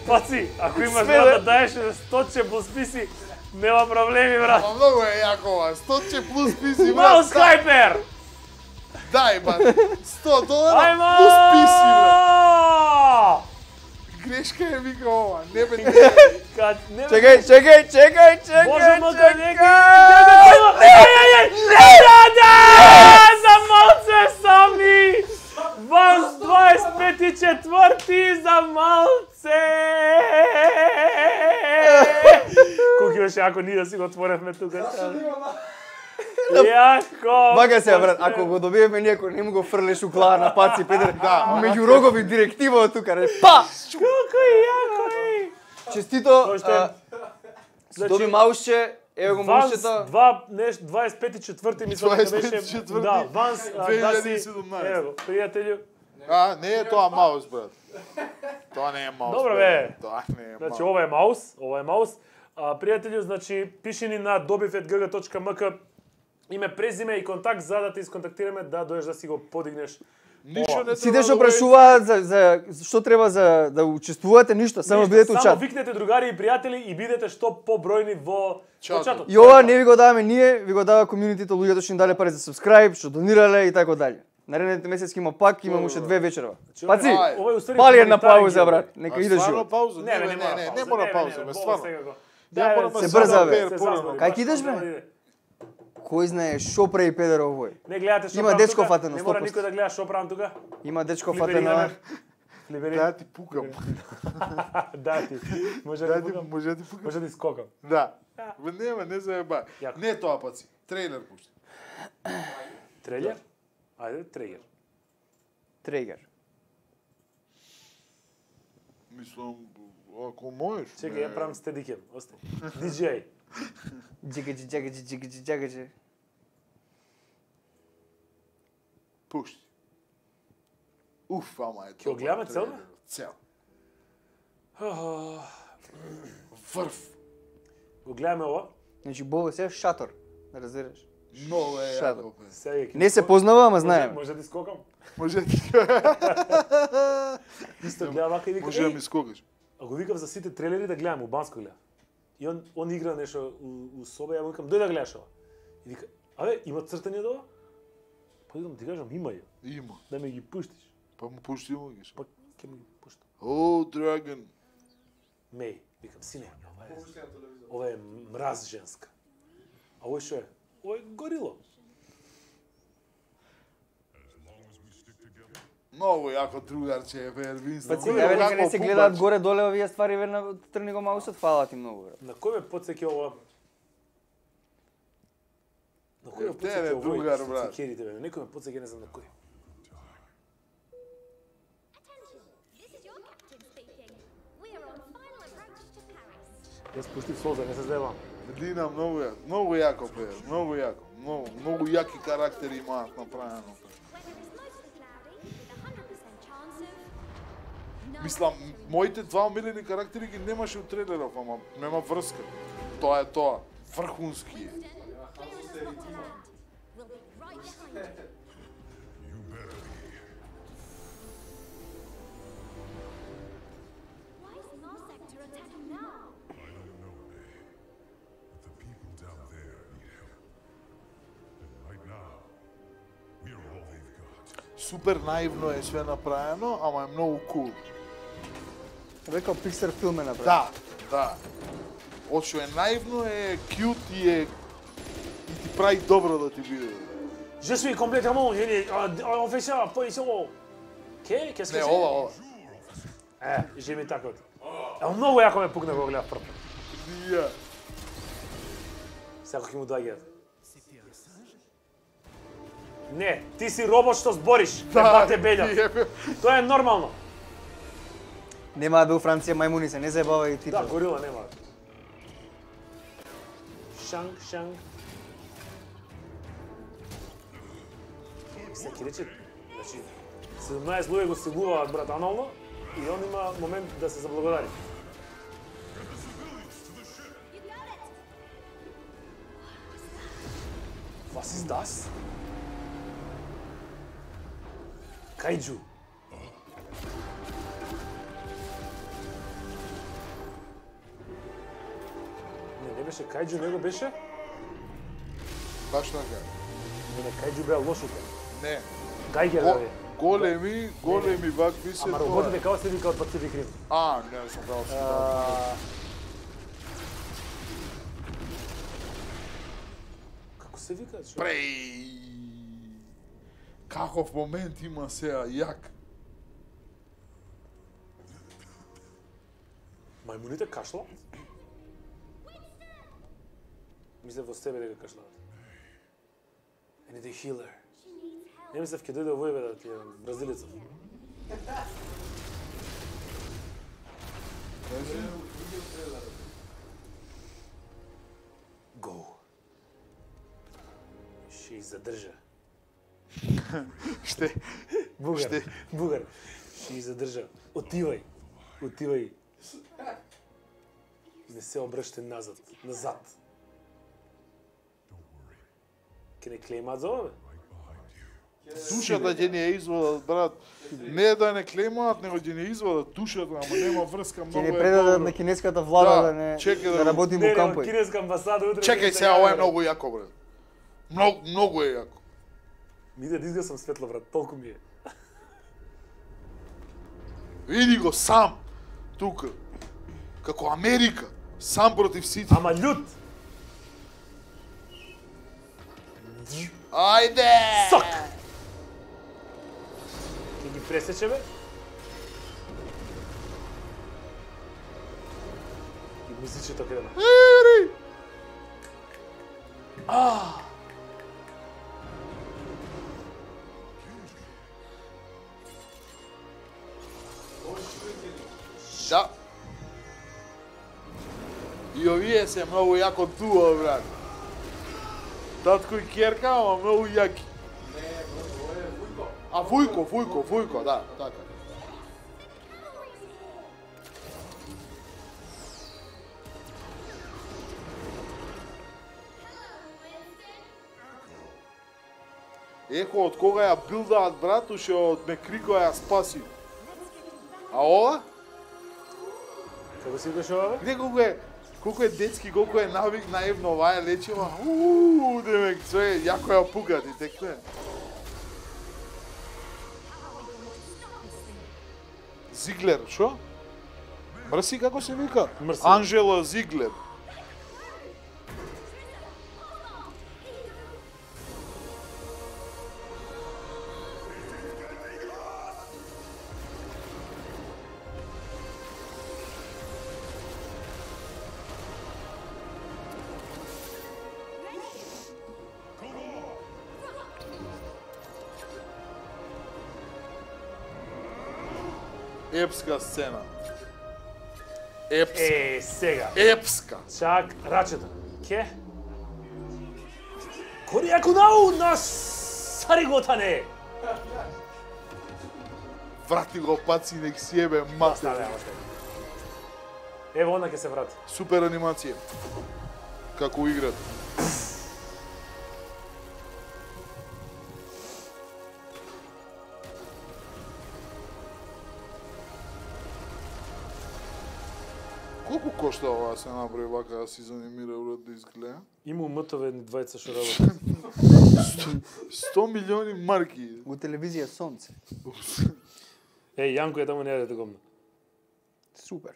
A: Паци, ако имаш
B: Све,
A: брат
B: бе.
A: да даеш сточе плюс писи, нема проблеми, брат.
C: Ама многу е јако ова. сто плюс писи, брат.
A: Маус Hyper!
C: Дај, брат. сто долара
A: Ајмо!
C: плюс писи, брат. Грешка е вика ова. Не бе, не бе.
A: Кад не бе-
B: Чекај, чекај, чекај, чекај.
A: Можемо да
B: чекај.
A: неки... Еј, еј, еј! Да, за малце сами! Ванс дваесет пети четврти за малце! Колку беше ако ние да си го отворевме тука. Јако!
B: Бага се, брат, ако го добиеме ние, ако не му го фрлеш у глава на Паци Педер, меѓу рогови директива од тука, ре, па!
A: Колку јако е!
B: Честито,
A: Тоа што
B: а,
A: Значи,
B: доби маусче, ево го
A: Ванс
B: маусчето.
A: два неш дваесет пети четврти мислам дека
C: дваесет пети
A: беше.
C: четврти
A: Да, Ванс а,
C: две
A: да
C: илјади и
A: си.
C: седумнаесет.
A: Ево, пријателју.
C: А, не е тоа маус, брат. Тоа не е маус.
A: Добро,
C: брат.
A: бе.
C: Тоа не е
A: Значи
C: маус.
A: ова е маус, ова е маус. А, пријателју, значи пиши ни на добив ет джи джи точка ем ка име, презиме и контакт за да те исконтактираме да дојдеш да си го подигнеш.
C: Ништо не
B: Сите
C: треба
B: што
C: да
B: прашуваат за, за што треба за да учествувате, ништо, само
A: Ништо,
B: бидете у
A: Само
B: чат.
A: викнете другари и пријатели и бидете што побројни во во
C: Чатот.
A: чатот.
B: И ова не ви го даваме ние, ви го дава комјунитито, луѓето што им дале пари за subscribe, што донирале и така дале. Наредните месеци има пак, имам уште две вечерва. Паци,
C: Ај.
A: Ова е уствари
B: пали една
A: хуманитарен
B: пауза,
A: гил.
B: брат. Нека
C: А
B: иде
C: стварно
B: живот.
C: пауза?
A: Не, бе,
C: не,
A: не,
C: не, не,
A: пауза.
C: не мора
A: не,
C: пауза,
A: не,
C: бе,
A: бо,
C: стварно.
A: сега го.
C: Ја
A: Да,
C: морам
B: се
C: да
B: брза, бе.
C: пер
A: се
C: порано.
A: зазвори,
B: Кај
A: баш
B: ќе идеш,
A: тоа
B: бе?
A: да иде.
B: Кој знае што прави Педер овој?
A: Не гледате што
B: Има
A: правам
B: дечко
A: тука?
B: фатено,
A: Не мора
B: сто проценти.
A: никој да гледа што правам тука.
B: Има дечко
A: Флибери
B: фатено.
A: гамер. Флибери.
C: Да ти пукам.
A: Да ти. Може
C: Да
A: да
C: ти,
A: пукам.
C: може да ти пукам.
A: Може да скокам.
C: Да. Бе, не, бе, не заеба.
A: Јако.
C: Не тоа, паци. Трейлер пушти.
A: Трейлер? Ајде, трейлер.
B: Трегер.
C: Мислам, ако можеш.
A: Чекај,
C: не.
A: ја правам стедикем. Остај. ди џеј.
B: Джигаджи, джагаджи, джигаджи, джагаджи.
C: Пушти. Уф, ама е
A: Ќе го гледаме цел, бе?
C: Цел. Врв.
A: Го гледаме ова.
B: Значи Бобо се шатор, да разбереш.
C: Много е
B: Шадо.
C: јако, бе.
A: Сега ќе
B: Не се
A: скокам.
B: познава, ама
A: Може-
B: знаеме.
A: Може да скокам.
C: Може ти
A: Исто гледа вака и вика.
C: Може да
A: "Еј,
C: ми скокаш.
A: А го викав за сите трейлери да гледам, убанско гледа. И он он игра нешто у, у соба, ја му викам дој да гледаш ова. И вика, абе, има цртање до ова? Па викам ти кажам има ја.
C: Има.
A: Да ми ги пуштиш.
C: Па му пушти му ги.
A: Па ќе ми ги пуштам.
C: О, Dragon.
A: Меј, викам сине, ова е. Ова е мраз женска. А овој што е? Ова е горило.
C: Многу јако другарче е, бе, Винстон.
B: Паци, еве нека не се гледаат горе доле овие ствари, ве на трни го маусот, фала ти многу, брат.
A: На кој ме потсеќа ова? На кој ме
C: Е, тебе,
A: потсеќа овој?
C: другар, брат.
A: Цикерите, бе. Некој ме потсеќа, не знам на кој.
E: Attention, this is your captain speaking. We are on final approach to Paris.
A: Јас пуштив солза, не се здевам.
C: Дина, многу јако, многу јако, бе, многу јако. Многу, многу јаки карактери имаат направено. бе.
E: Weather is mostly cloudy with a one hundred percent chance of... no
C: Мислам,
E: actually-
C: моите два омилени карактери ги немаше у трейлеров, ама нема врска. Тоа е тоа. Врхунски е.
E: Winston, clear as a spot to land. We'll be right behind you. Why is Mars Sector attacking now?
C: Супер наивно е све направено, ама е многу кул.
B: Рекao Pixar филм е направен.
C: Да, да. Од што е наивно е кјут и е и ти прави добро да ти биде.
A: Je suis complètement gêné. Euh, On fait ça, position. Ке? Qu'est-ce que
C: Не,
A: c'est?
C: ова, ова.
A: Е, жеми така. Е, многу јако ме пукна кога гледав прв.
C: Ја.
A: Секој ќе му доаѓа. Не, ти си робот што збориш. Да, бате белја.
C: јебе.
A: Тоа е нормално.
B: Нема да бе у Франција мајмуни се, не заебава и ти.
A: Да, горила нема. Шанг, шанг. Се ќе рече, значи, седумнаесет луѓе го сегуваат брат анално и он има момент да се заблагодари. Was ist das? Кајджу. Не, не беше кајджу, него беше?
C: Баш така.
A: Не, не, кајджу беа лошите.
C: Не.
A: Гајгер
C: Го,
A: бе.
C: големи, големи вакви се
A: Ама
C: тоа.
A: роботите како се вика од Pacific Rim?
C: А, не сум прavo се.
A: А, Како се вика? Шо?
C: Преј. Каков момент има сега, јак.
A: Мајмуните кашлаат? Мисле во себе дека кашлаат. I need a healer. Не мислев ќе дојде овој бе да ти е бразилецов. Go. Ще их задржа.
C: Ште?
A: Бугар,
C: Ште?
A: бугар. Ще их задржа. Отивај. Отивај. Не се обрште назад. Назад. Ке не клеймат за ова, бе?
C: Душата ќе не ја извадат, брат. Не да не клемаат, него ќе не извадат душата, ама нема врска,
B: Ќе
C: многу
B: не
C: е
B: предадат
C: добро.
B: на кинеската влада
C: Да,
B: да не
C: чекај да
B: да
C: го-
B: работи
A: Не,
B: во
A: не,
B: кампој.
A: кинеска амбасада утре.
C: Чекај
A: ќе
C: сега,
A: се
C: ова е
A: јави,
C: многу јако, брат. Многу, многу е јако.
A: Ми иде да изгасам светло, брат, толку ми е.
C: Види го сам, тука. Како Америка, сам против сите.
A: Ама љут!
C: Ајде!
A: Сок! Ќе ги пресече, бе? И мисли, че така дема.
C: Ери! Да. И овие се многу јако туа, брат. Татко и керка, ама многу јаки. А Вујко, Вујко, Вујко, да, така. Ехо, од кога ја билдаат, брат, уште од Мекрико ја спаси. А ова?
A: Како си викаш ова, бе?
C: Где колку е, колку е детски, колку е навик, наивно, ова е лечива. Ууу, демек, све, јако ја пукат и тек тоа. Зиглер, шо? Мрси, како се вика?
A: Мрси.
C: Анжела Зиглер. Епска сцена. Епска.
A: Е, сега.
C: Епска.
A: Чак рачето. Ке? Коријаку нау на сариготане.
C: Врати го паци, нек си ебе мате.
A: Ставе, още. Ево, она ќе се врати.
C: Супер анимација. Како играт. Колку кошта ова да се направи вака да си занимира уред да изгледа?
A: Има умтове ни двајца што работат.
C: сто милиони марки.
B: Во телевизија Сонце.
A: Еј, Јанко е таму не јадете гомна.
B: Супер.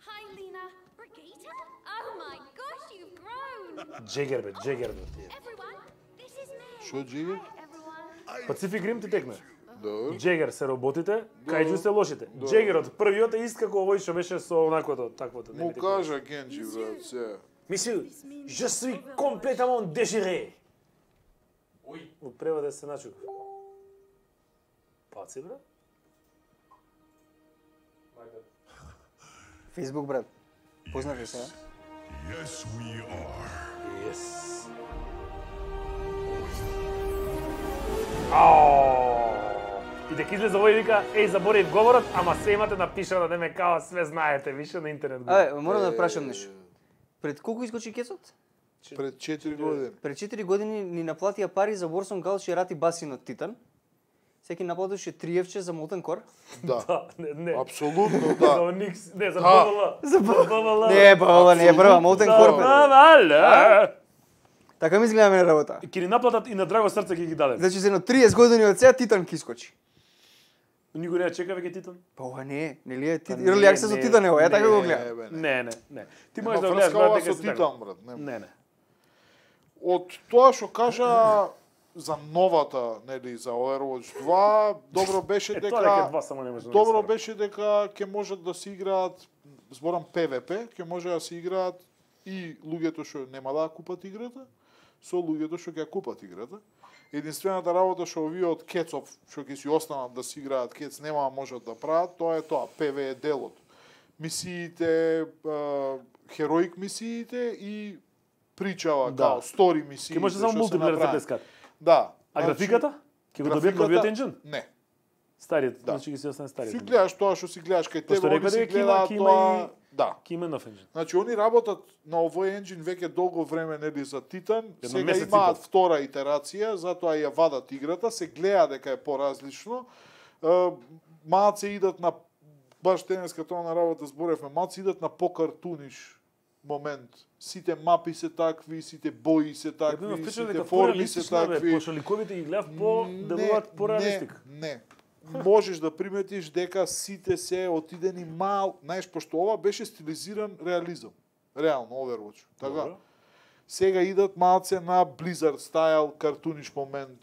E: Hi, Lena. Brigitte? Oh my gosh, you've grown.
A: Джегер бе, Джегер бе.
E: Everyone, this is Meg.
C: Шо Джигер?
E: Everyone.
A: Пацифик Рим ти текме.
C: Добро.
A: Джегер се работите, кајджу се лошите. Джегерот првиот е ист како овој што беше со онаквото, таквото.
C: Му кажа Генджи, брат, се.
A: Мисил, je suis complètement déchiré.
D: Ој,
A: Во превод е се начук. Паци, бре?
D: my bad.
B: Фейсбук, брат. Познаш ли се?
F: Yes, we are.
A: Yes. Ао! И дека излезе овој вика, еј, заборив говорот, ама се имате напишано да ме као све знаете, више на интернет го.
B: Абе, морам да прашам нешто. Пред колку изкочи кецот?
C: Пред четири години.
B: Пред четири години ни наплатија пари за Warson Gulch и Рати басин од Титан. Секи наплатуваше три евче за Molten Core.
C: Да.
A: Да, не, не.
C: Апсолутно,
A: За
C: да.
A: Оникс, не, за
C: Да.
A: БВЛ.
B: За
A: БВЛ.
B: Не, па ова не е прва, Molten Core. бе.
A: БВЛ.
B: Така ми изгледа мене работа.
A: Ке ни наплатат и на драго срце ќе ги дадем.
B: Значи за едно триесет години од сега Титан ки искочи.
A: Никој не ја чека веќе Титан?
B: Па ова не е, нели е Титан?
A: не,
B: Early Access
A: не,
B: од Титан е ова, ја така го
C: Не,
B: гледам.
C: бе, не.
A: Не, не, не. Ти
C: Нема
A: можеш да гледаш
C: врска ова
A: брат
C: со
A: дека си така.
C: Титан, брат. нема.
A: Не, не.
C: Од тоа што кажа за новата, нели, за Overwatch два, добро беше
A: Е, тоа дека
C: дека
A: два само не може да
C: добро
A: ме
C: беше дека ќе можат да се играат, зборам PvP, ќе може да се играат и луѓето што нема да ја купат играта, со луѓето што ќе ја купат играта. Единствената работа што овие од Кецов, што ќе си останат да си играат Кец, нема да можат да прават, тоа е тоа, PvE делот. Мисиите, а, хероик мисиите и причава,
A: Да.
C: као, стори мисиите.
A: Ке може само
C: што се
A: мултиплеер за
C: направи.
A: дескат.
C: Да.
A: А
C: значи,
A: графиката? Ке го добијат
C: графиката-
A: новиот енџин?
C: Не.
A: Стариот,
C: Да.
A: значи ги си остане
C: Си
A: стариот.
C: гледаш тоа што си гледаш кај
A: Пошто
C: тебе,
A: рекоа
C: они си
A: дека ќе има-
C: гледаат
A: ќе има
C: тоа.
A: и-
C: Да.
A: Ке има нов енџин.
C: Значи они работат на овој енџин веќе долго време нели за Титан,
A: Едно
C: сега
A: месец и
C: имаат
A: пол.
C: втора итерација, затоа ја вадат играта, се гледа дека е поразлично. Е, Малце идат на баш денеска тоа на работа зборевме, малце идат на покартуниш момент. Сите мапи се такви, сите бои се
A: Ја бев
C: такви,
A: впечатлен
C: сите
A: дека
C: форми се
A: пореалистично бе,
C: такви.
A: пошто ликовите ги гледав по делуваат пореалистик.
C: Не, не. Можеш да приметиш дека сите се отидени мал, знаеш, пошто ова беше стилизиран реализам. Реално, Overwatch. Така.
A: Добро.
C: Сега идат малце на Blizzard стайл картуниш момент.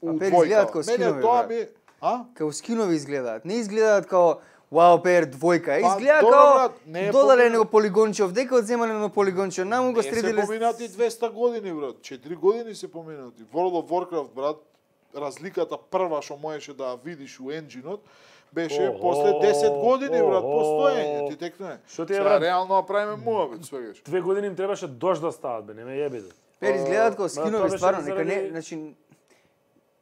C: У
B: пери
C: двојка.
B: изгледаат као
C: Мене
B: скинови,
C: тоа
B: брат.
C: ми... А?
B: Као скинови изгледаат. Не изгледаат као Wow Pair двојка.
C: Па,
B: Изгледа
C: добро,
B: као
C: брат, не е
B: додале
C: помина-
B: него полигонче овдека, одземале на полигонче наму го
C: Не се
B: средиле.
C: поминати двеста години, брат. четири години се поминати. World of Warcraft, брат, разликата прва што можеше да ја видиш у енџинот, беше
A: Охо,
C: после десет години, брат,
A: охо.
C: постоење. Ти текне.
A: Што ти е,
C: Сега
A: брат?
C: реално да правиме муабет, свегаш.
A: Две години им требаше дожд да стават, бе, не ме јебете.
B: Пер изгледаат као
A: Ма, тоа
B: скинови
A: беше
B: стварно, нека не,
A: заради-
B: значи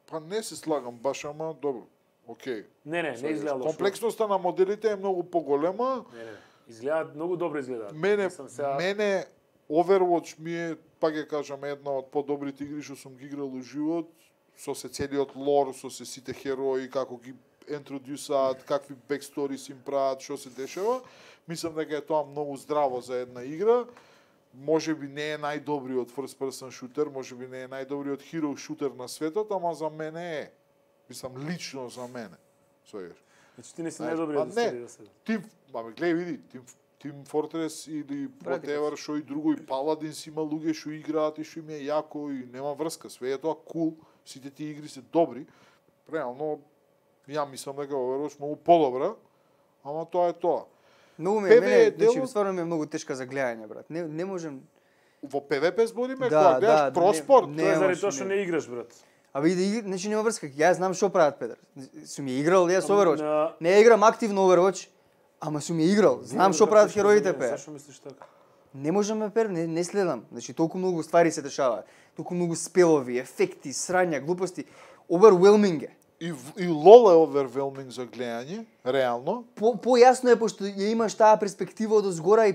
C: Па не се слагам баш, ама добро. Океј.
A: Не, не, не
C: Свегаш.
A: изгледа лошо.
C: Комплексноста на моделите е многу поголема.
A: Не, не, не. Изгледаат многу добро изгледаат.
C: Мене,
A: Мислам сега-
C: мене Overwatch ми е, пак ќе кажам, една од подобрите игри што сум ги играл у живот, со се целиот лор, со се сите херои, како ги интродюсаат, какви бексторис им прават, што се дешава. Мислам дека е тоа многу здраво за една игра. Може би не е најдобриот first person shooter, може би не е најдобриот hero shooter на светот, ама за мене е. Мислам, лично за мене. Свегаш.
A: Значи ти не си
C: Знаеш,
A: најдобриот
C: па
A: да
C: не.
A: се да се.
C: Тим, ама гледај види, Team, Team Fortress или
B: Брати,
C: whatever, што и друго, и Paladins има луѓе што играат и што им е јако и нема врска, све е тоа кул, сите тие игри се добри. Реално, ја мислам дека Overwatch многу подобра, ама тоа е тоа.
B: многу ми
C: Пе
B: е
C: ве
B: мене,
C: делот-
B: значи стварно ми е многу тешка за гледање, брат. Не не можам.
C: Во PvP збориме,
B: Да,
C: кога гледаш
B: да,
C: проспорт,
B: не-
A: Тоа е заради
B: Немаш,
A: тоа што
B: не.
A: не играш, брат.
B: Абе и да игри, значи нема врска. Јас знам што прават Петар. Сум ја играл јас Overwatch.
A: на-
B: Не ја играм активно Overwatch, ама сум ја играл. Знам што прават хероите пе.
A: Зашо мислиш така?
B: Не можам ме пер, не, не следам. Значи толку многу ствари се дешаваат. Толку многу спелови, ефекти, срања, глупости. Overwhelming е.
C: и, в- и лол е overwhelming за гледање, реално.
B: По појасно е пошто ја имаш таа перспектива од озгора и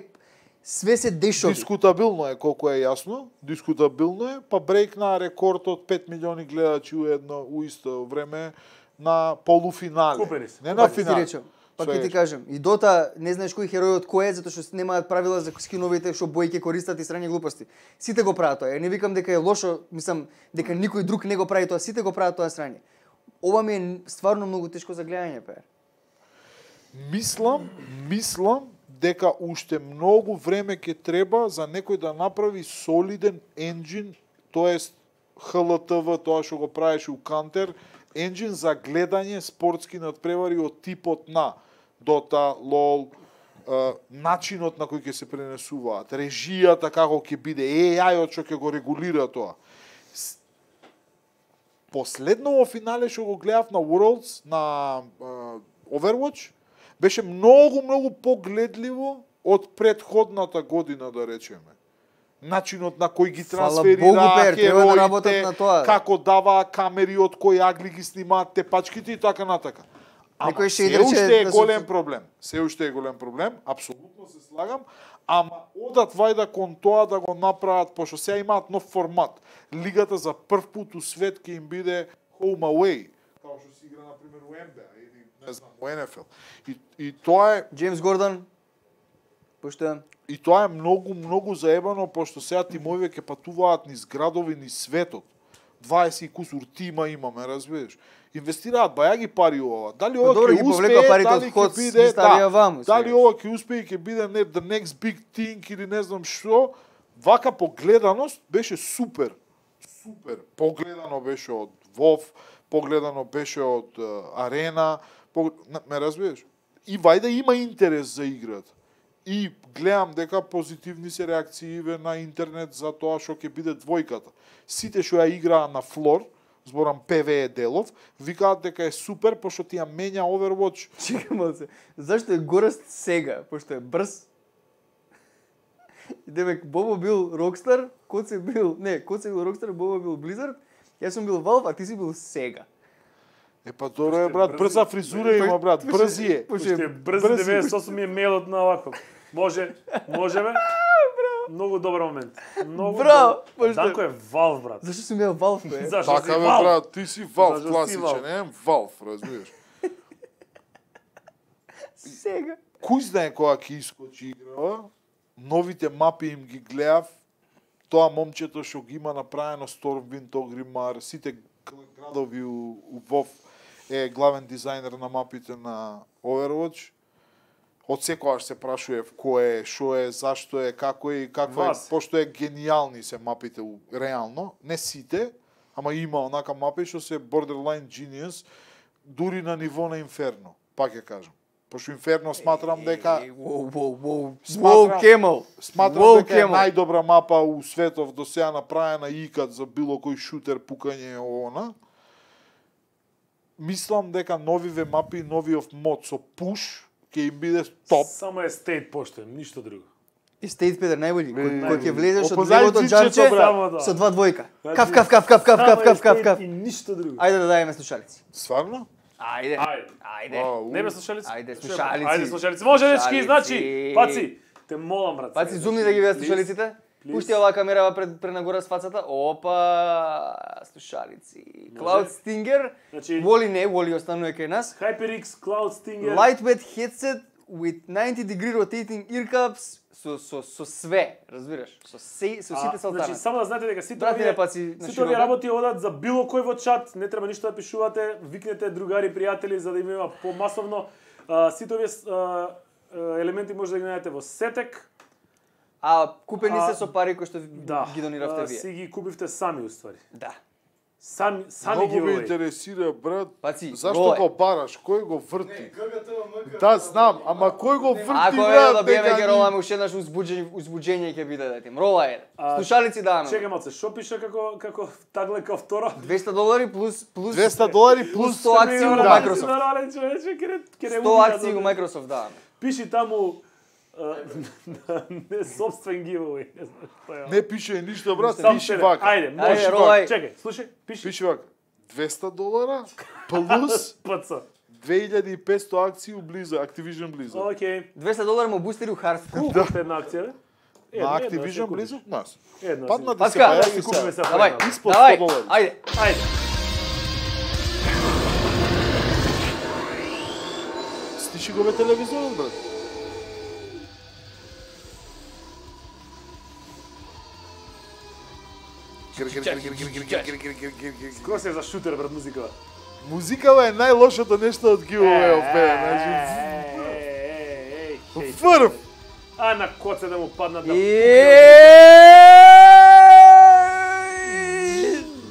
B: Све се дешови.
C: Дискутабилно е, колку е јасно, дискутабилно е, па брейкна рекорд од пет милиони гледачи у едно у исто време на полуфинале.
A: Купени се.
C: Не на
B: Пак ти
C: финале.
B: речем, пак
C: Све
B: ќе ти
C: е.
B: кажем, и Дота не знаеш кој херој од кој е, затоа што немаат правила за скиновите што бои ќе користат и срање глупости. Сите го прават тоа. Е, не викам дека е лошо, мислам дека никој друг не го прави тоа, сите го прават тоа срање. Ова ми е стварно многу тешко за гледање, пе.
C: Мислам, мислам дека уште многу време ќе треба за некој да направи солиден енџин, тоест Х Л Т В, тоа што го правеше у Кантер, енџин за гледање спортски надпревари од типот на Дота, лол, е, начинот на кој ќе се пренесуваат, режијата како ќе биде, Е Ај од што ќе го регулира тоа. С- Последно во финале што го гледав на Worlds, на е, Overwatch, беше многу, многу погледливо од предходната година, да речеме. Начинот на кој ги
B: Фала
C: трансферира
B: Богу, Пер, треба да работат
C: хероите,
B: на тоа.
C: како даваа камери, од кои агли ги снимаат тепачките и така натака. Ама
B: Некој
C: се
B: шејдер
C: уште
B: ќе
C: е
B: да
C: голем
B: се-
C: проблем. Се уште е голем проблем, апсолутно се слагам, ама одат вајда кон тоа да го направат, пошто сега имаат нов формат. Лигата за прв пат у свет ќе им биде home away, као што се игра на пример у Н Б А или не знам, у Н Ф Л. И, и тоа е
B: Джеймс Гордон, пошто
C: И тоа е многу, многу заебано, пошто сега тимовите ќе патуваат низ градови, низ светот. дваесет и кусур тима имаме, разбираш. Инвестираат бајаги пари ова. Дали ова
B: добро,
C: ќе
B: ги повлекоа
C: успее,
B: парите од
C: дали
B: Хоц,
C: ќе
B: ги
C: биде,
B: ставија
C: да,
B: ваму,
C: дали
B: сега.
C: ова ќе успее и ќе биде не the next big thing или не знам што, вака погледаност беше супер. Супер. Погледано беше од WoW, погледано беше од uh, Арена, пог... ме разбираш? И вајда има интерес за играта. И гледам дека позитивни се реакцииве на интернет за тоа што ќе биде двојката. Сите што ја играа на флор, зборам П В Е Делов, викаат дека е супер, пошто ти ја менја Overwatch.
B: чекам малце. Зашто е горест сега, пошто е брз? И демек Бобо бил Rockstar, Коце бил, не, Коце бил Rockstar, Бобо бил Blizzard, јас сум бил Valve, а ти си бил Sega.
C: Е па добро е брат, брза фризура има брат, брзи е.
B: Пошто
A: Уште
B: е
A: брз
C: брзи.
A: деветдесет и осум ми е мејлот на овако. Може, може бе? Многу добар момент. Многу
B: Браво,
A: добар.
B: пошто-
A: Данко е Valve, брат.
B: Зашто сум ја Valve, бе?
A: Зашто си
C: Така бе
A: Valve?
C: брат, ти си Valve
A: Зашто си
C: класичен,
A: Valve?
C: е Valve, разбираш.
B: Сега.
C: Кој знае кога ќе искочи играва, новите мапи им ги гледав, тоа момчето што ги има направено Stormwind, Ogrimmar, сите градови у, у WoW е главен дизајнер на мапите на Overwatch. Од секогаш се прашував кој е, што е, зашто е, како е и какво е,
A: Вас.
C: пошто е гениални се мапите у- реално, не сите, ама има онака мапи што се borderline genius, дури на ниво на Инферно, пак ја кажам. Пошто Инферно сматрам дека
B: Е, Воу, воу, воу.
C: Сматрам-
B: Воу, Кемел.
C: Сматрам
B: Воу,
C: дека е
B: Кемел.
C: најдобра мапа у светов до сега направена икад за било кој шутер пукање е она. Мислам дека новиве мапи, новиот мод со пуш ќе им биде топ.
A: Само е стейт поштен, ништо друго.
B: И State Peter најбољи, кој
C: Е,
B: кој ќе влезеш од
C: опозади
B: левото
C: зичето,
B: џарче
C: брат.
A: Само тоа.
B: со два двојка.
A: Значи,
B: Каф, каф, каф, каф, каф,
A: Само
B: каф,
A: е
B: каф, каф,
A: стейт
B: каф.
A: И ништо друго.
B: Ајде да дајме слушалици.
C: Стварно?
B: Ајде.
A: Ајде.
B: Ајде.
C: А, у.
A: Не бе слушалици?
B: Ајде,
A: Чујемо.
B: слушалици.
A: Ајде слушалици. Може дечки,
B: Слушалици.
A: значи, паци, те молам брат.
B: Паци
A: сега,
B: зумни да
A: значи,
B: ги видат
A: please.
B: слушалиците.
A: please.
B: Пушти оваа камерава пред пренагора с фацата. Опа, слушалици. Cloud Stinger.
A: Значи-
B: Воли не, Воли останува кај нас.
A: HyperX Cloud Stinger.
B: Lightweight headset with ninety degree rotating ear cups со со со све, разбираш? Со се со
A: А,
B: сите салтана.
A: Значи, само да знаете дека сите
B: Брати,
A: овие,
B: не паци на
A: сите
B: широко.
A: овие работи одат за било кој во чат, не треба ништо да пишувате, викнете другари, пријатели за да има помасовно. А, сите овие а, а, елементи може да ги најдете во Сетек.
B: А купени
A: А,
B: се со пари кои што
A: Да.
B: ги дониравте
A: а,
B: вие.
A: Си ги купивте сами уствари.
B: Да.
A: Сами сами
C: Многу
A: ги
C: ме
A: овој.
C: интересира, брат,
B: Паци,
C: зашто
B: роле.
C: го бараш, кој го врти? Да, знам, ама кој го врти,
B: Ако е
C: брат,
B: да биеме
C: дека
B: ќе
C: ни-
B: роламе уште еднаш узбуđење узбуđење ќе биде да тим. Рола е.
A: А,
B: Слушалици даваме.
A: Чекај малце, шо пише како како тагле као второ?
B: двесте долари плюс плюс
C: двесте долари плюс
B: сто акции
C: сто
B: у
C: да.
B: Microsoft.
A: Нормален човече, ке ке не
B: сто акции у Microsoft даваме.
A: Пиши таму а, не собствен giveaway, не знам што е.
C: Не пише ништо, брат,
A: Сам
C: пиши
A: себе.
C: вака.
A: Ајде,
B: Ајде,
A: може.
B: ролај.
A: Чекај, слушај, пиши.
C: Пиши вака. двесте долара плюс
A: ПЦ.
C: две илјади и петсто акции у Blizzard, Activision Blizzard.
A: Океј.
B: двесте долари му бустери у Hearthstone.
A: Колку кошта една акција, бе? Една,
C: На
A: една,
C: Activision
A: се купиш.
C: Blizzard нас.
A: Една.
C: Паднати се
B: Паска,
C: па ја
A: си
C: ги
A: купиме
C: се.
A: се
B: Давај,
A: по една.
C: Испод
B: давај,
C: сто долари.
B: ајде.
A: Ајде.
C: Стиши го бе телевизорот, брат.
A: Кој се за шутер брат музикава?
C: Музикава е најлошото нешто од giveaway опе, значи
A: Ей, ей,
C: фрф.
A: а на коце да му паднат да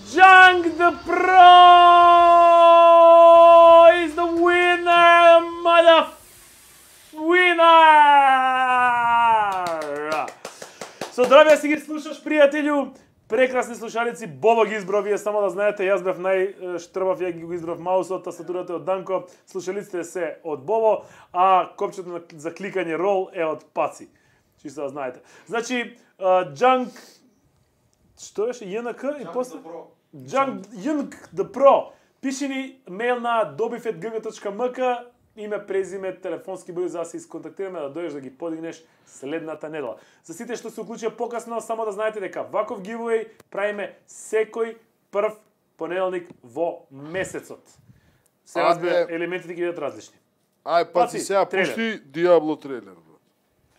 A: Jung the Pro is the winner, mother winner! Со здравје си ги слушаш, пријателju. Прекрасни слушалици, Бобо ги избрав, вие само да знаете, јас бев најштрбав, ја ги го избрав маусот, тастатурата е од Данко, слушалиците се од Бобо, а копчето за кликање рол е од Паци. Чисто да знаете. Значи, Junk... Што беше? J N K и после? Junk Junk the Pro. Пиши ни мејл на добив ет г г точка м к, име, презиме, телефонски број за да се исконтактираме, да дојдеш да ги подигнеш следната недела. За сите што се уклучија покасно, само да знаете дека ваков giveaway правиме секој прв понеделник во месецот. Се
C: А,
A: разбира,
C: е.
A: елементите ќе бидат различни.
C: Ај,
A: Паци,
C: паци, сега
A: трейлер.
C: пушти Диабло трейлер, брат.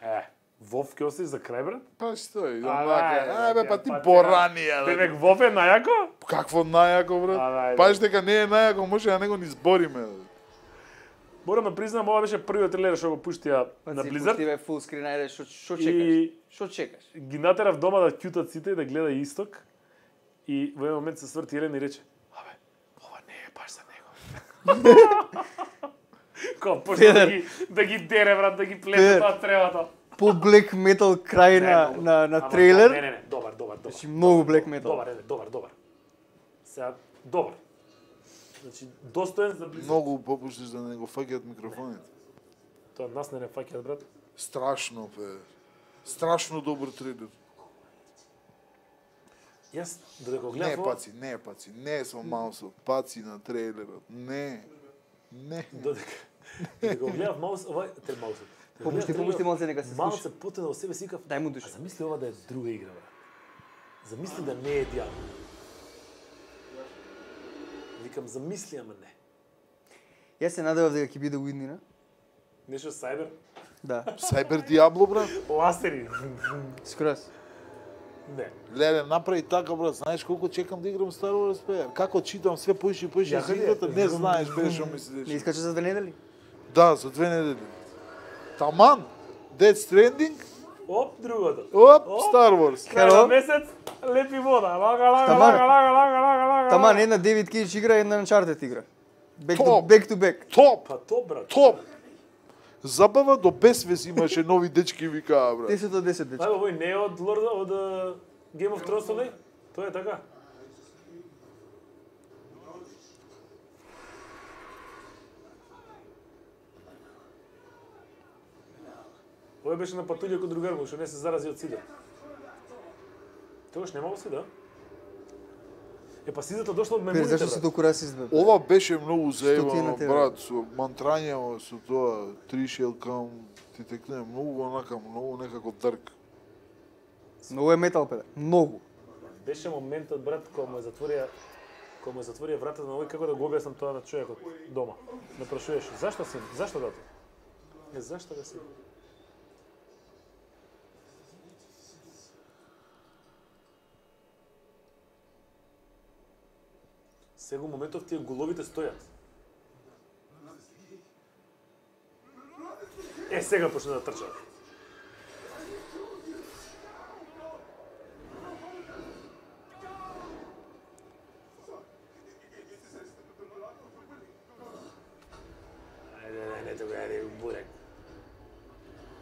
A: Е, Вов ќе оставиш за крај, брат?
C: Па стои,
A: А,
C: онака.
A: ајде,
C: Ај бе, па
A: ја,
C: ти
A: па,
C: поранија.
A: Бе,
C: бе.
A: бе, Вов е најако?
C: Какво најако, брат?
A: А, ајде.
C: Паш дека не е најако, може да не го ни збориме. бе.
A: Морам да признам, ова беше првиот трейлер што го пуштија на Blizzard.
B: Пустиве фул скрин, ајде, шо шо чекаш?
A: И
B: Шо чекаш?
A: ги натерав дома да ќутат сите и да гледа Исток. И во еден момент се сврти Елена и рече: "Абе, ова не е баш за него." Ко почна да ги да ги дере, брат, да ги плете
B: Педер.
A: тоа тревата.
B: По black metal крај
A: Не,
B: на
A: многу.
B: на на
A: Ама,
B: трейлер.
A: Не, не, не, добар, добар, добар.
B: Значи многу black metal.
A: Добар, не, добар, добар. Сега добар. Значи достоен за Blizzard.
C: Многу попуштиш да не го фаќаат микрофоните.
A: Тоа нас не не фаќаат, брат.
C: Страшно, бе. Страшно добар трейлер.
A: Јас додека го
C: Не,
A: гледав ова,
C: паци, не, паци, не со маусот, паци на трейлерот. Не. Не.
A: додека додека го гледав маус, ова те маусот. Додека го
B: Попушти,
A: гледав
B: попушти
A: трейлерот,
B: малце нека се слуша.
A: Малце потена во себе си викав,
B: Дај му душа.
A: а замисли ова да е друга игра, брат. Замисли да не е Диабло. Викам, замисли, ама не.
B: Јас се надевав дека ќе биде уиднина.
A: Нешто Сайбер,
B: Да,
C: Сайбер Диабло, брат.
A: ластери.
B: скроз.
A: Не.
C: Леле, направи така, брат. Знаеш колку чекам да играм Star Wars, бе? Како читам све поише и поише
A: Ја,
C: за
A: каде?
C: играта, не знаеш, бе, што ми
B: Не
C: се деша.
B: искача за две недели?
C: Да, за две недели. Таман, Dead Stranding,
A: Оп, другото.
C: оп,
A: Оп.
C: Star Wars.
A: Крај на
B: Хело?
A: месец, лепи вода. Лага, лага,
B: Таман.
A: лага, лага, лага, лага, лага.
B: Таман, една Девид Кейдж игра, една Uncharted игра. Back to
C: Топ.
B: back to back.
C: Топ,
A: Па то, брат.
C: топ. Забава до безвез имаше нови дечки викаа, брат.
B: десет од десет вече.
A: Ајде, овој не е од Lord од uh, Game of Thrones, не? Тоа е така. Овој беше на патулја кod другар му, што не се зарази од сида. Тогаш немало сида? Е, па сидата дошло од
B: Пер,
A: мемуните,
B: зашто си
A: брат.
B: толку расист, бе?
C: Ова беше многу
B: Што ти е на
C: заебано,
B: тебе?
C: брат, со мантрањево, со тоа Three Shall Come, ти текне многу онака, многу некако дарк.
B: Многу е метал, пе. Многу.
A: Беше моментот, брат, кога му е затворија кога му е затворија вратата на овој, како да го објаснам тоа на човекот дома. Ме прашуваше, зашто си? Зашто дато? Е, зашто да си? Сега моментов тие головите стојат. Е, сега почна да трчат. Ајде, ајде, не тога, ајде, бурек.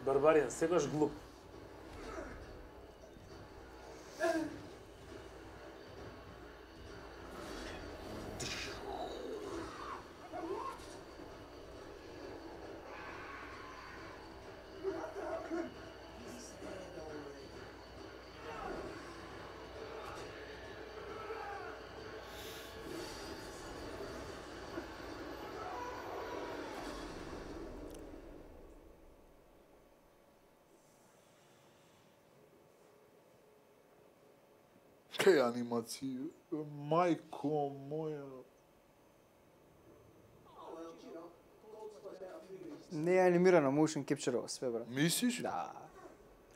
A: Барбаријан, секогаш глуп.
C: Кај анимација, мајко моја.
B: Не е анимирано, motion capture све, брат.
C: Мислиш?
B: Да.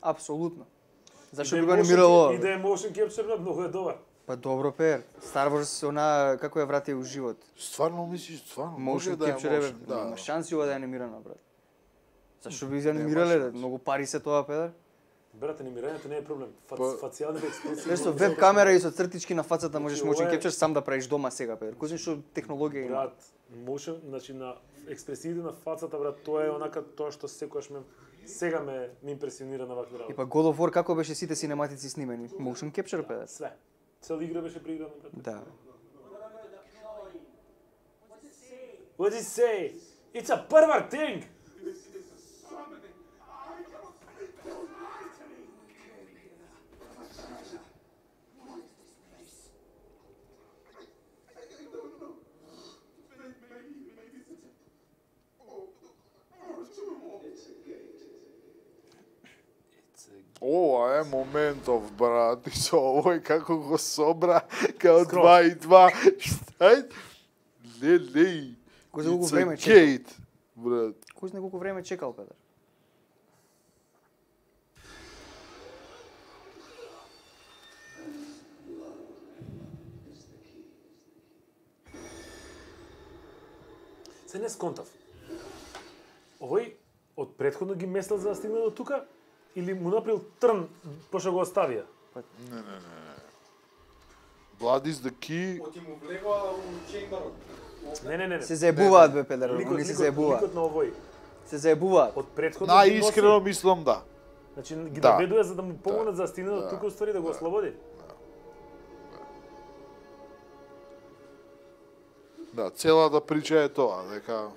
B: Апсолутно. Зашо
A: И
B: би
A: да
B: го
A: е motion-
B: анимирало?
A: И да е motion capture, брат, многу е добар.
B: Па добро, Пер. Star Wars, она, како ја врати у живот.
C: Стварно мислиш, стварно? Може
B: Motion
C: да е
B: capture, е,
C: motion,
B: брат.
C: да.
B: Нема шанси ова да е анимирано, брат. Зашо би ја анимирале,
C: шанси.
B: многу пари се тоа, Педер.
A: Брат, анимирањето не е проблем. Фац,
C: Па-
A: фацијалните експресии...
B: Нешто
A: многу
B: веб
A: се
B: камера и со цртички на фацата можеш
A: Значи,
B: motion
A: ова е-
B: capture сам да правиш дома сега, Педер. Кој знае што технологија има.
A: Брат, motion, значи на експресиите на фацата, брат, тоа е онака тоа што секогаш ме сега ме ме импресионира на вакви
B: И
A: работи.
B: па God of War како беше сите синематици снимени? Motion capture, Педер.
A: Све. Цела игра беше преиграна, брат.
B: Да.
A: What did he say? It's a pervert thing!
C: Ова е моментов, брат, и со овој како го собра, као
A: Скроз.
C: два и два, ај, лелеј,
B: Кој за колку
C: it's a
B: време чекал?
C: gate, брат.
B: Кој знае колку време чекал, Педер?
A: Се не сконтав. Овој од претходно ги месел за да стигне до тука или му направил трн пошто го оставија?
C: Blood is the key,
D: Оти му влегува у чемберот.
A: Не, не, не. не.
B: Се заебуваат, бе, Педер,
A: Ликот,
B: они се
A: ликот,
B: заебуваат.
A: ликот на овој.
B: Се заебуваат.
A: Од претходно ги носи.
C: најискрено мислам да.
A: Значи ги
C: Да.
A: доведува за да му помогнат за да стигне до
C: Да.
A: тука уствари да го ослободи.
C: Да, целата прича е тоа, дека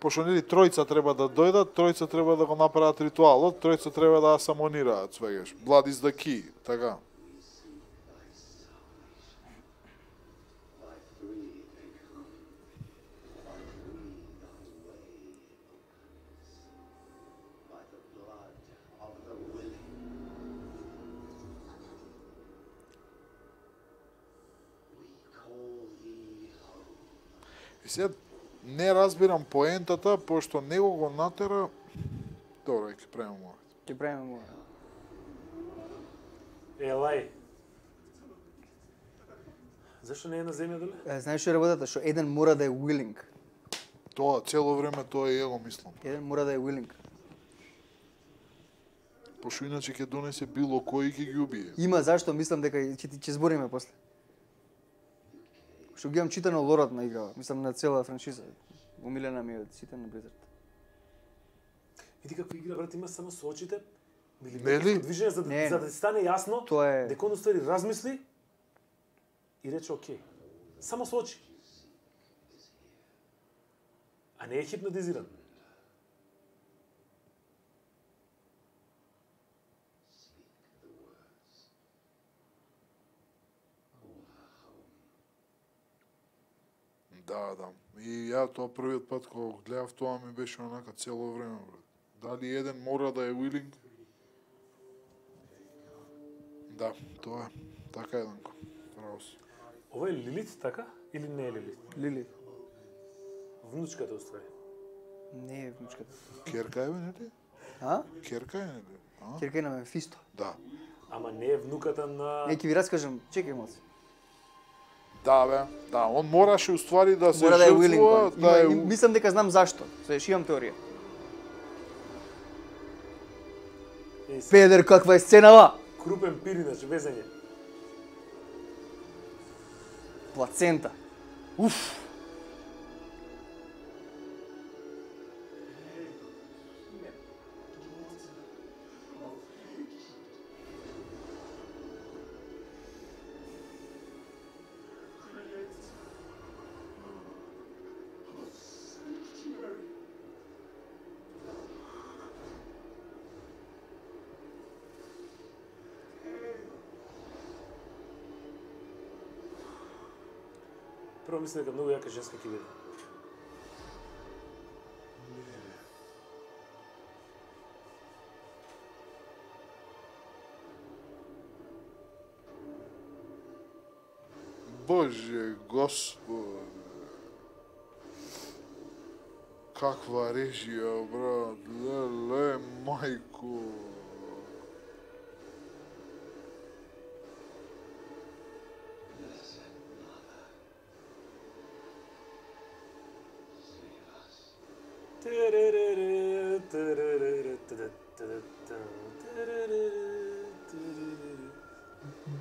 C: пошто нели тројца треба да дојдат, тројца треба да го направат ритуалот, тројца треба да самонираат, свегаш. Blood is the key, така. И сега не разбирам поентата, пошто него го натера... Добро, ќе правиме мојот.
B: Ќе правиме му.
A: Елај. Зашто не е на земја доле?
B: Е, знаеш што е работата? Што еден мора да е willing.
C: Тоа, цело време тоа е го мислам.
B: Еден мора да е willing.
C: Пошто иначе ќе донесе било кој и ќе ги убие.
B: Има зашто, мислам дека ќе ти ќе збориме после. Што ги имам читано лорот на играва, мислам на цела франшиза. Умилена ми е од сите на Blizzard.
A: Види како игра, брат, има само со очите. Или
C: Нели?
A: движење за,
B: Не,
A: за
B: не.
A: да ти стане јасно
B: Тоа е-
A: дека он уствари размисли и рече окей. Само со очи. А не е хипнотизиран.
C: Да, да. И ја тоа првиот пат кога го гледав тоа ми беше онака цело време, брат. Дали еден мора да е willing? Да, тоа е. Така е, Данко. Право си.
A: Ова е Лилит, така? Или не е Лилит?
B: Лили.
A: Внучката уствари.
B: Не е внучката.
C: Керка е, бе, не ли?
B: А?
C: Керка е, не ли? А?
B: Керка е на Мефисто.
C: Да.
A: Ама не е внуката на...
B: Не, ќе ви раскажам, чекај малце.
C: Да, бе. Да, он мораше уствари да се
B: Мора да е willing.
C: жртвува,
B: он.
C: да
B: Има-
C: е...
B: им- Мислам дека знам зашто. Свеш, имам теорија.
A: Е, се-
B: Педер, каква е сценава?
A: Крупен пир, иначе, везење.
B: Плацента. Уф.
A: Прво мислам дека многу јака женска ќе биде.
C: Боже, Господи. Каква режија, брат. Леле, мајко.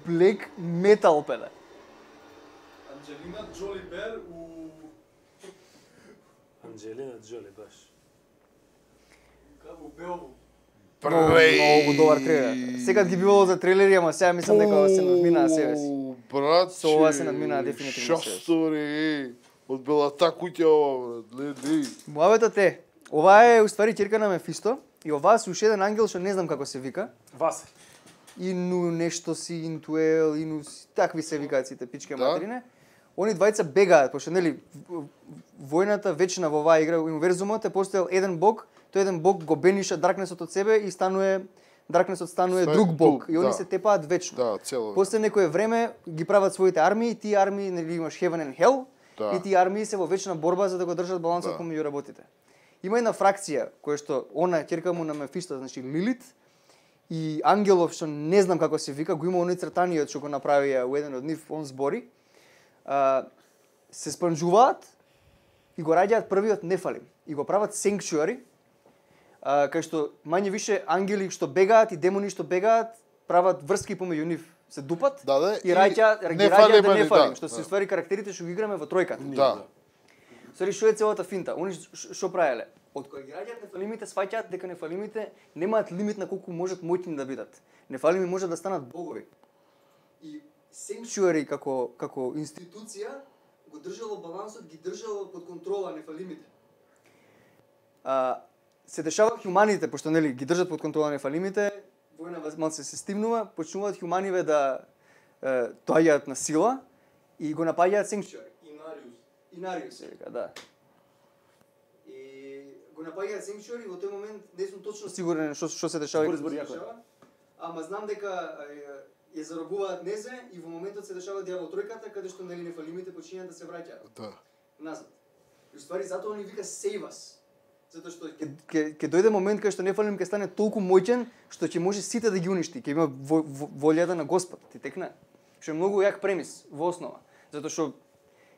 B: Black metal пеле.
D: Анджелина Джоли Бер у...
A: Анджелина Джоли, баш.
D: Како у Белву.
B: Многу, многу добар трейлер. Секад ги бивало за трейлери, ама сега мислам дека се надмина на себе си.
C: Брат,
B: Со ова се надмина дефинитивно себе си.
C: Шастори, од белата куќа ова, брат, леди.
B: Муабетот е, ова е уствари ќерка на Мефисто и оваа се уште еден ангел што не знам како се вика.
A: Васе.
B: Ину нешто си, Интуел, Ину си, такви се викаат сите пички
C: Да.
B: материне. Они двајца бегаат, пошто нели в- војната вечна во оваа игра, универзумот е постоел еден бог, тој еден бог го бениша Даркнесот од себе и станува Даркнесот станува
C: Ста-
B: друг бог
C: друг,
B: и они
C: да.
B: се тепаат вечно.
C: Да, цело.
B: После некое време ги прават своите армии, тие армии нели имаш Heaven and Hell
C: Да.
B: и тие армии се во вечна борба за да го држат балансот
C: Да.
B: помеѓу работите. Има една фракција која што она ќерка му на Мефисто, значи Лилит и Ангелов што не знам како се вика, го има оној цртаниот што го направија у еден од нив, он збори. А, се спанџуваат и го раѓаат првиот Нефалим и го прават Sanctuary, а, кај што мање више ангели што бегаат и демони што бегаат прават врски помеѓу нив, се дупат
C: Да, да,
B: и
C: и
B: раѓаат ги
C: Нефалимани,
B: раѓаат Нефалим,
C: да,
B: што се
C: да.
B: ствари карактерите што ги играме во тројката.
C: Да.
B: Сори, што е целата финта? Они ш- што правеле? Од кога ги раѓаат нефалимите, сваќаат дека нефалимите немаат лимит на колку можат моќни да бидат. Нефалими можат да станат богови. И Sanctuary како како институција го држало балансот, ги држало под контрола нефалимите. А се дешава хуманите, пошто нели ги држат под контрола нефалимите, војна малце се стимнува, почнуваат хуманиве да е, доаѓаат на сила и го напаѓаат Sanctuary.
D: Инариус.
B: Инариус се вика, да. И го напаѓаат Sanctuary, во тој момент не сум точно сигурен што што се дешава. и
A: Збори,
B: како
A: збори,
B: се
A: јако е.
B: дешава, ама знам дека е, ја заробуваат Незе и во моментот се дешава дјавол тројката каде што нели нефалимите починаат да се враќаат
C: Да.
B: назад. И уствари затоа они вика save us. Затоа што ќе ќе ќе дојде момент кај што нефалим ќе стане толку моќен што ќе може сите да ги уништи, ќе има во, во, волјата на Господ, ти текне. Што е многу јак премис во основа, затоа што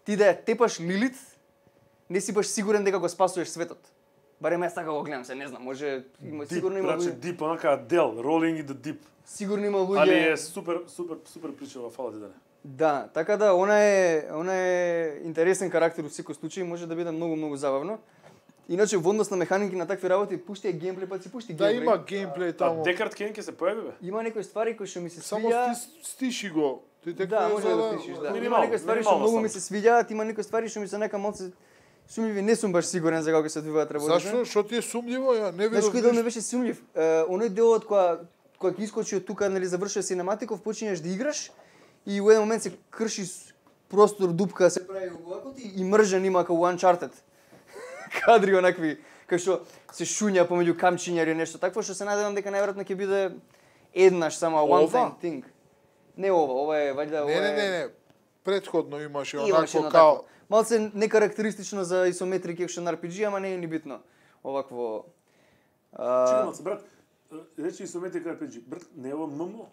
B: ти да ја тепаш Лилит, не си баш сигурен дека го спасуваш светот. Барем јас така го гледам се, не знам, може има
A: Дип,
B: сигурно има
A: браче,
B: луѓе,
A: дип, онака дел, rolling in the deep.
B: сигурно има
A: Али е
B: луѓе.
A: супер, супер, супер причава, фала ти да не.
B: Да, така да она е она е интересен карактер во секој случај, може да биде многу многу забавно. Иначе во однос на механики на такви работи, пушти е геймплей, па си пушти
C: Да,
B: геймплей.
C: има геймплей
A: А
C: таму.
A: Декарт Кен ќе се појави бе?
B: Има некои ствари кои што ми се
C: Само
B: свиѓа.
C: сти, стиши го. Ти така
B: Да,
C: е
B: може
C: за
B: да стишиш, да. Има
A: Минимално,
B: некои ствари што
A: минимално
B: многу
A: само.
B: ми се свиѓаат, има некои ствари што ми се нека малце сумњиви, не сум баш сигурен за како ќе се одвиваат работите.
C: Зашто? Што ти е сумњиво? Ја не
B: Знаеш
C: видов
B: кој дел ми
C: ништо.
B: беше сумњив? Е, оној делот кога кога ќе искочи од тука, нели завршува синематиков, почињаш да играш и во еден момент се крши с- простор, дупка, се прави овако и, и мржан има како Uncharted. Кадри онакви кај што се шуња помеѓу камчиња или нешто такво, што се надевам дека најверојатно ќе биде еднаш само one
C: Ова?
B: time thing. Не ова, ова е вајда ова
C: Не, не,
B: е-
C: не, не. Предходно имаше
B: Имаше
C: онако
B: едно
C: као
B: такво. Малце некарактеристично за исометрик екшен ар пи джи, ама не е ни битно. Овакво... а,
A: Чекам се, брат. Речи Isometric ар пи джи. Брат, не е ова ем ем о?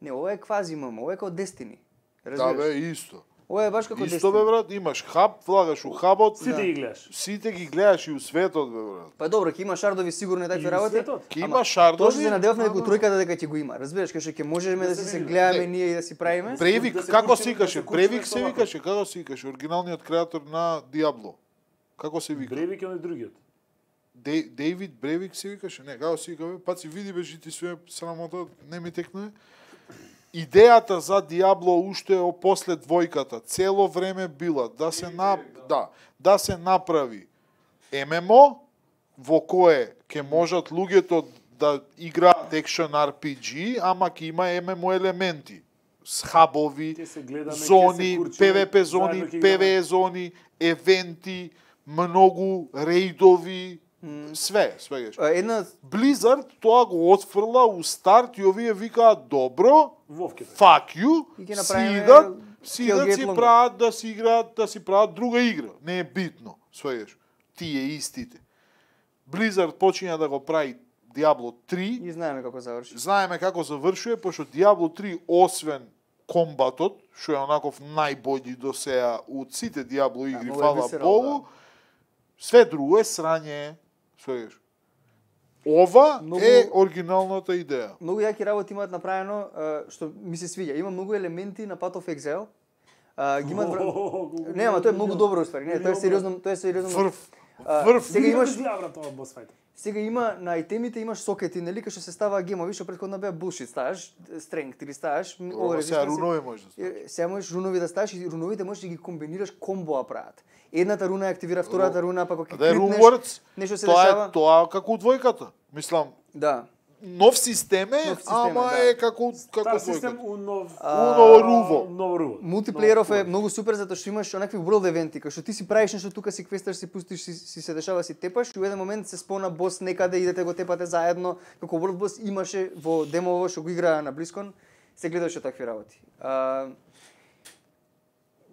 B: Не, ова е квази ММО, ова е како Destiny.
C: Да
B: Разбираш?
C: бе, исто.
B: Ова е баш како
C: Исто
B: Destiny.
C: бе брат, имаш хаб, влагаш у хабот,
A: Сите
B: Да.
A: ги гледаш.
C: сите ги гледаш и у светот бе брат.
B: Па добро, ќе има шардови сигурно и
A: И
B: такви
A: у
B: работи.
A: светот.
C: Ке
B: Ама
C: има шардови.
B: Тоа што се надевавме дека у
C: ама-
B: тројката дека ќе го има. Разбираш, кај што ќе можеме да
A: се
B: си се
A: види.
B: гледаме
C: Не.
B: ние и да си правиме.
C: Бревик,
A: Да се
C: како
A: курчи-
C: се
A: да
C: викаше?
A: се курчи
C: Бревик
A: нешто
C: се
A: овако.
C: викаше, како се викаше? Оригиналниот креатор на Диабло. Како се вика?
A: Бревик е оној другиот.
C: Дей- Дейвид Бревик се викаше? Не, како се вика бе? Па си види беше ти све срамота, не ми текне. Идејата за Диабло уште е после двојката, цело време била да се на да, да се направи ем ем о во кое ќе можат луѓето да играат екшен ар пи джи, ама ќе има ем ем о елементи. С хабови,
A: Ќе се гледаме, ќе
C: зони,
A: се курчиме,
C: пе ве пе
A: заедно
C: зони,
A: ќе
C: пе
A: играме.
C: ве е зони, евенти, многу рейдови, све, све.
B: А, Една
C: Blizzard тоа го отфрла у старт и овие викаат добро,
A: Вовките.
C: fuck you,
B: И ќе
C: си
B: направиме
C: идат си играат,
B: Hellgate
C: си
B: Long.
C: прават да си играат, да си прават друга игра. Не е битно, сваѓаш. Тие истите. Blizzard почиња да го прави Diablo три.
B: И знаеме како заврши.
C: Знаеме како завршува, пошто Diablo три, освен комбатот, што е онаков најбољи до сега од сите Diablo игри,
B: многу е
C: фала
B: visceral,
C: Богу, све друго е срање, сваѓаш. Ова
B: Многу-
C: е оригиналната идеја.
B: Многу јаки работи имаат направено, а, што ми се свиѓа. Има многу елементи на Path of Exile. А, ги имаат вра- Не, ама тоа е многу добро уствари. Не, тоа е сериозно, тоа е сериозно.
C: Врв.
B: А,
C: Врв.
B: Сега имаш
A: брат, ова бос фајт.
B: Сега има на айтемите имаш сокети, нели, кај што се става гемови, што претходно беа bullshit, ставаш strength или ставаш м,
C: Ова
B: resistance
C: сега
B: и-
C: рунови може да стане.
B: Е, Сега можеш рунови да ставаш и руновите можеш да ги комбинираш, комбоа прават. Едната руна активира втората руна, па кога ќе
C: Да е
B: критнеш,
C: Runewords,
B: нешто се
C: тоа
B: дешава.
C: е тоа како у двојката. Мислам,
B: Да.
C: нов систем е,
B: Нов систем е,
C: ама
B: да.
C: е како како
A: Таа систем
C: двојката.
A: у нов
C: Уно руво.
A: Ново руво.
B: Мултиплееров е
A: Нов-
B: многу супер затоа што имаш онакви world евенти, кај што ти си правиш нешто тука, си квесташ, си пустиш, си, си се дешава, си тепаш и у еден момент се спона бос некаде, идете го тепате заедно, како world boss имаше во демово што го играа на BlizzCon, се гледаше такви работи. А,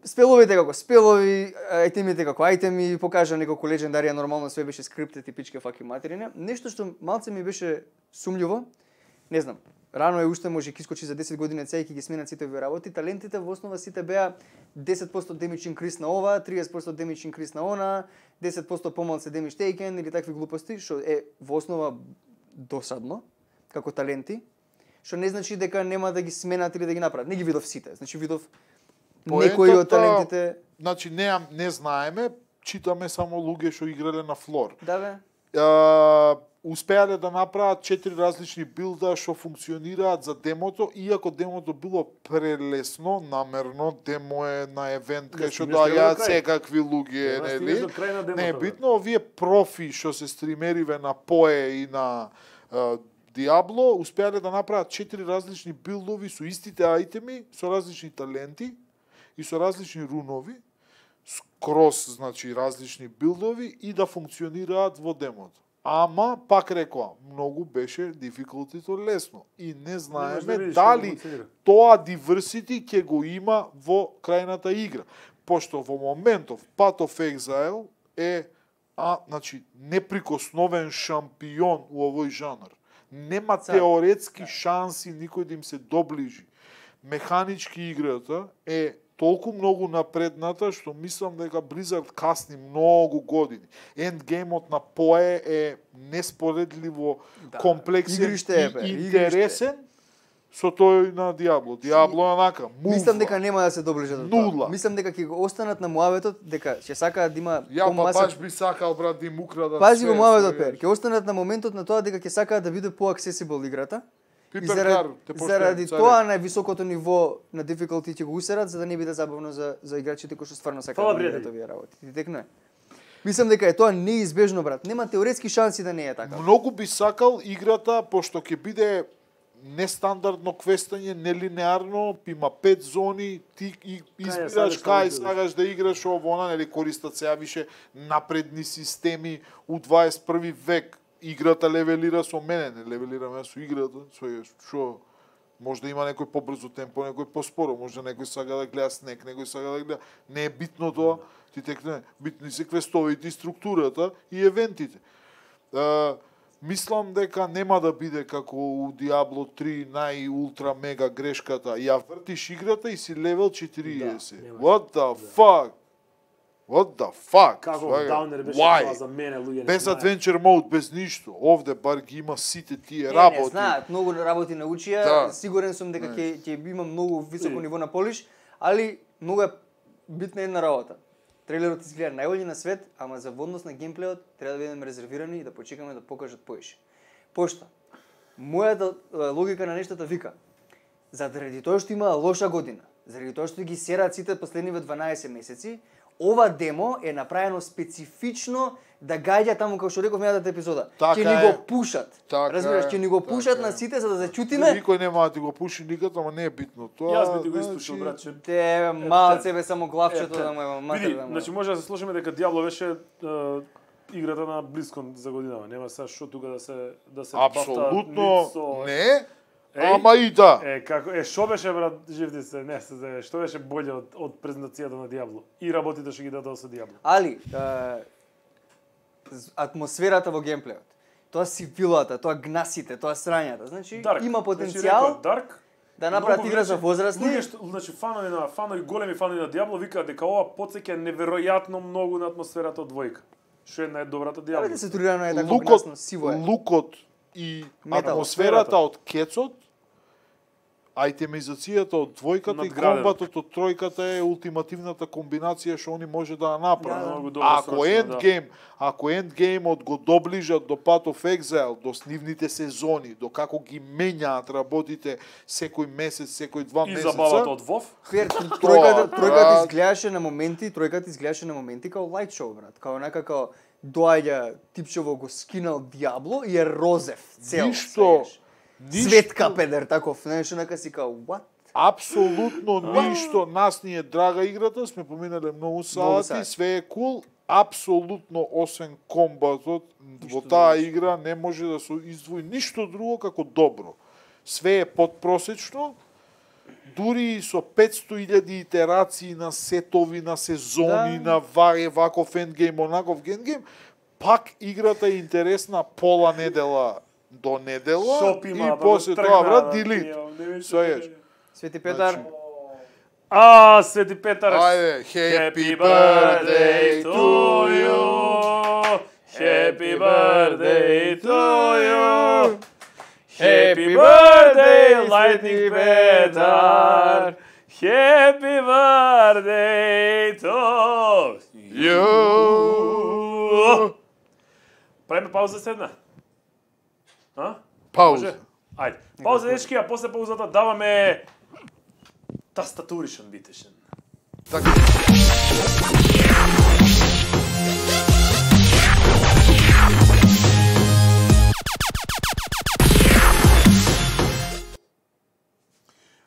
B: спеловите како спелови, айтемите како айтеми, покажа неколку легендарија, нормално све беше скриптет и пичке факи материне. Нешто што малце ми беше сумљуво, не знам, рано е уште, може ќе искочи за десет години цеј ќе ги сменат сите овие работи. Талентите во основа сите беа десет проценти damage increase на ова, триесет проценти damage increase на она, десет проценти помалце damage taken или такви глупости, што е во основа досадно како таленти, што не значи дека нема да ги сменат или да ги направат. Не ги видов сите, значи видов некои од
C: Поентата-
B: талентите.
C: Значи не не знаеме, читаме само луѓе што играле на флор.
B: Да бе.
C: Uh, успеале да направат четири различни билда што функционираат за демото, иако демото било прелесно, намерно, демо е на евент
A: Не
C: кај што
A: стигнеш до
C: доаѓаат
A: крај.
C: секакви луѓе,
A: Треба да стигнеш
C: нели?
A: до крај на демото,
C: Не е
A: бе.
C: битно, овие профи што се стримериве на Пое и на uh, Диабло, успеале да направат четири различни билдови со истите айтеми, со различни таленти и со различни рунови, скрос, значи, различни билдови и да функционираат во демото. Ама, пак рекоа, многу беше дификултито лесно. И не
A: да
C: знаеме
A: видиш
C: дали
A: како функционира.
C: тоа diversity ќе го има во крајната игра. Пошто во моментов Path of Exile е а, значи, неприкосновен шампион у овој жанр. Нема
B: Цар.
C: теоретски шанси никој да им се доближи. Механички играта е толку многу напредната што мислам дека Blizzard касни многу години. Ендгеймот на Пое е неспоредливо
B: Да.
C: комплексен
B: Игриште е, бе,
C: и
B: игриште.
C: интересен со тој на Диабло. Диабло е онака, мувва.
B: Мислам дека нема да се доближат до тоа.
C: Нула.
B: Мислам дека ќе го останат на муаветот, дека ќе сакаат да има
C: Ја па
B: помаса.
C: баш би сакал брат да им украдат.
B: Пази го
C: све,
B: муаветот
C: све.
B: пер. Ќе останат на моментот на тоа дека ќе сакаат да биде по-аксесибл играта. И
C: Пипер
B: заради,
C: Кар, те поштувам,
B: заради
C: царе.
B: тоа највисокото ниво на difficulty ќе го усерат за да не биде забавно за за играчите кои што стварно сакаат
A: Фала,
B: да играат
A: пријатели.
B: овие работи. Ти текно е. Мислам дека е тоа неизбежно, брат. Нема теоретски шанси да не е така.
C: Многу би сакал играта, пошто ќе биде нестандардно квестање, нелинеарно, има пет зони, ти и избираш
A: сакаш да
C: кај
A: играш.
C: сакаш да играш ово, она, нели користат сега више напредни системи у дваесет и први век. Играта левелира со мене, не левелираме со играта, со што може да има некој побрзо темпо, некој поспоро, може некој сака да гледа снег, некој сака да гледа. Не е битно тоа, ти текне, битни се квестовите и структурата и евентите. Uh, мислам дека нема да биде како у Diablo три нај-ултра мега грешката. Ја вртиш играта и си левел четириесет.
A: Да, немаш.
C: What the fuck? What the fuck?
A: Како
C: Свага?
A: даунер беше
C: Why?
A: тоа за мене, луѓе не
C: Без
A: знаат.
C: adventure mode, без ништо. Овде бар ги има сите тие
B: Не,
C: работи.
B: не знаат, многу работи научија,
C: Да.
B: сигурен сум дека
C: Не.
B: ќе ќе има многу високо
A: И.
B: ниво на полиш, али многу е битна една работа. Трейлерот изгледа најбољи на свет, ама за водност на геймплеот треба да бидеме резервирани и да почекаме да покажат поише. Пошто мојата е, логика на нештата вика, заради тоа што има лоша година, заради тоа што ги сераат сите последниве дванаесет месеци, ова демо е направено специфично да гаѓа таму како што реков мејатата епизода.
C: Така
B: ќе ни
C: е.
B: го пушат.
C: Така
B: Разбираш,
C: е,
B: ќе ни го
C: така
B: пушат
C: е.
B: на сите за да зачутиме.
C: Никој нема да ти го пуши никад, ама не е битно. Тоа,
A: Јас би ти го
C: значи,
A: истушил, братче.
B: Те малце бе само главчето
A: Ете,
B: да му е матер
A: Види,
B: да му.
A: значи може да се слушаме дека Диабло беше е, играта на BlizzCon за годинава. Нема сега што тука да се да се
C: Апсолутно
A: бафта нит со
C: не,
A: Еј,
C: Ама и да.
A: Е, како, е, шо беше, брат, живди се, не се знае, што беше болje од, од презентацијата на Диабло и работите што ги дадоа со Диабло?
B: Али, е, з- атмосферата во геймплеот, тоа сивилата, тоа гнасите, тоа срањата, значи
A: Дарк.
B: има
A: Значи,
B: потенцијал
A: рекоа, Дарк,
B: да направат
A: многу
B: игра за
A: значи,
B: возрастни.
A: Луѓе што, значи фанови на фанови, големи фанови на Диабло викаат дека ова потсеќа неверојатно многу на атмосферата од двојка. Што една е добрата Диабло.
B: Абе да се турирано е така
C: Лукот,
B: гнасно, сиво е.
C: лукот и
B: Метал.
C: атмосферата од кецот, а и темизацијата од двојката и
A: Надградено.
C: комбатот од тројката е ултимативната комбинација што они може да ја направат.
B: Да,
A: многу добро
C: Ако
A: срочно,
C: Endgame, ако Endgame-от го доближат до Path of Exile, до снивните сезони, до како ги менјаат работите секој месец, секој два
A: И
C: месеца.
A: забавата од WoW.
B: Фер, тројката,
C: Тоа,
B: тројката
C: брат.
B: изгледаше на моменти, тројката изгледаше на моменти као лайт шоу, брат. Као нека као доаѓа типчево го скинал Диабло и е розев цел.
C: Ништо,
B: свегаш.
C: ништо,
B: Светка педер таков, нешто нека си као what?
C: апсолутно ништо, нас ни е драга играта, сме поминале многу сати,
B: сати.
C: све е кул, апсолутно освен комбатот во таа игра не може да се издвои ништо друго како добро. Све е подпросечно, дури и со петсто илјади итерации на сетови, на сезони,
B: Да.
C: на варе, ваков ендгейм, онаков ендгейм, пак играта е интересна пола недела до недела
A: Шоп
C: и
A: има, да го
C: после
A: тргна,
C: тоа, брат,
A: да,
C: делит.
A: тие, не беше
C: Свееш.
A: така.
B: Свети Петар,
C: Значи,
A: А, Свети Петар.
C: Ајде,
A: Happy birthday to you. Happy birthday to you. Happy birthday, Lightning Petar. Happy birthday to you. Правиме пауза седна? А?
C: Пауза.
A: Може? Ајде. Пауза, дечки, а после паузата даваме тастатуришен битешен.
C: Така.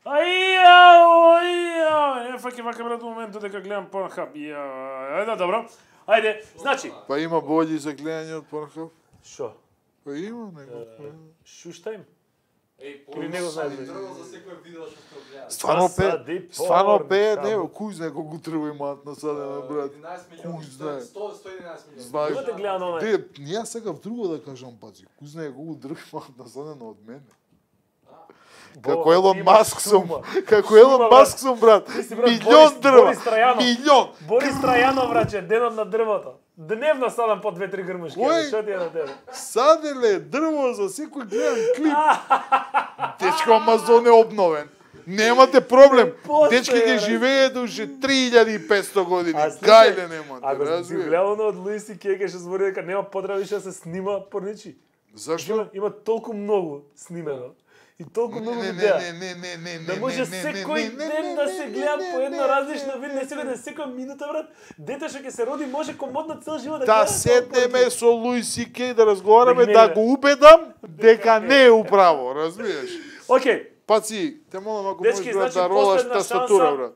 A: Аја, аја, не фаќи вака брат моментот дека гледам Pornhub. Ја, ајде, добро. Ајде, значи,
C: Па има бољи за гледање од Pornhub?
A: шо?
C: Па има него.
A: Шуштајм?
D: Еј,
A: Или не го знаеш,
D: порно
A: бе?
D: дрво за секој видео што сте гледали.
C: Стварно
A: Засади
C: пе, стварно
A: порн,
C: пе,
A: само.
C: не, кој знае колку треба имаат насадено, брат.
D: единаесет милиони,
C: Кој знае?
D: сто сто и единаесет милиони.
C: Знаеш,
A: Имате гледано онај?
C: Де, ја сакав друго да кажам, пази. Кој знае колку дрво имаат насадено од мене. Како
A: Бо,
C: Елон
A: ти имаш
C: Маск сум,
A: сума.
C: како
A: Сума,
C: Елон
A: брат.
C: Маск сум, брат.
A: Ти си, брат,
C: Милион
A: Борис-
C: дрва.
A: Борис Трајанов.
C: Милион.
A: Борис Трајанов, враче, денот на дрвото. Дневно садам по две-три грмушки.
C: Кој?
A: Што ти е на тебе?
C: Саделе, дрво за секој гледам клип. Дечко Амазон е обновен. Немате проблем.
A: Постоја,
C: Дечки ќе
A: бе.
C: живеат уште три илјади и петсто години.
A: А, слушај,
C: Гајле немате,
A: Ако си
C: разбираш?
A: гледал од Луис и Кеј, ќе збори дека нема потреба више да се снима порничи.
C: Зашто?
A: Има, има толку многу снимено и толку многу
C: Не, не,
A: видеа.
C: не, не, не, не, не,
A: Да може
C: не, не,
A: секој
C: не, не,
A: ден
C: не,
A: да
C: не,
A: се
C: не,
A: гледа
C: не,
A: по едно
C: не,
A: различно
C: не,
A: видео,
C: не,
A: не секој
C: не.
A: да секоја минута, брат. Дете што ќе се роди може комодно цел живот да
C: Да
A: гледа.
C: седнеме со Луис и Кеј да разговараме,
A: Да ги
C: да
A: не-
C: го убедам дека не е управо, разбираш?
A: Океј,
C: Паци, те молам ако
A: Дечки,
C: можеш брат
A: значи,
C: да ролаш
A: последна
C: тастатура,
A: шанса.
C: брат.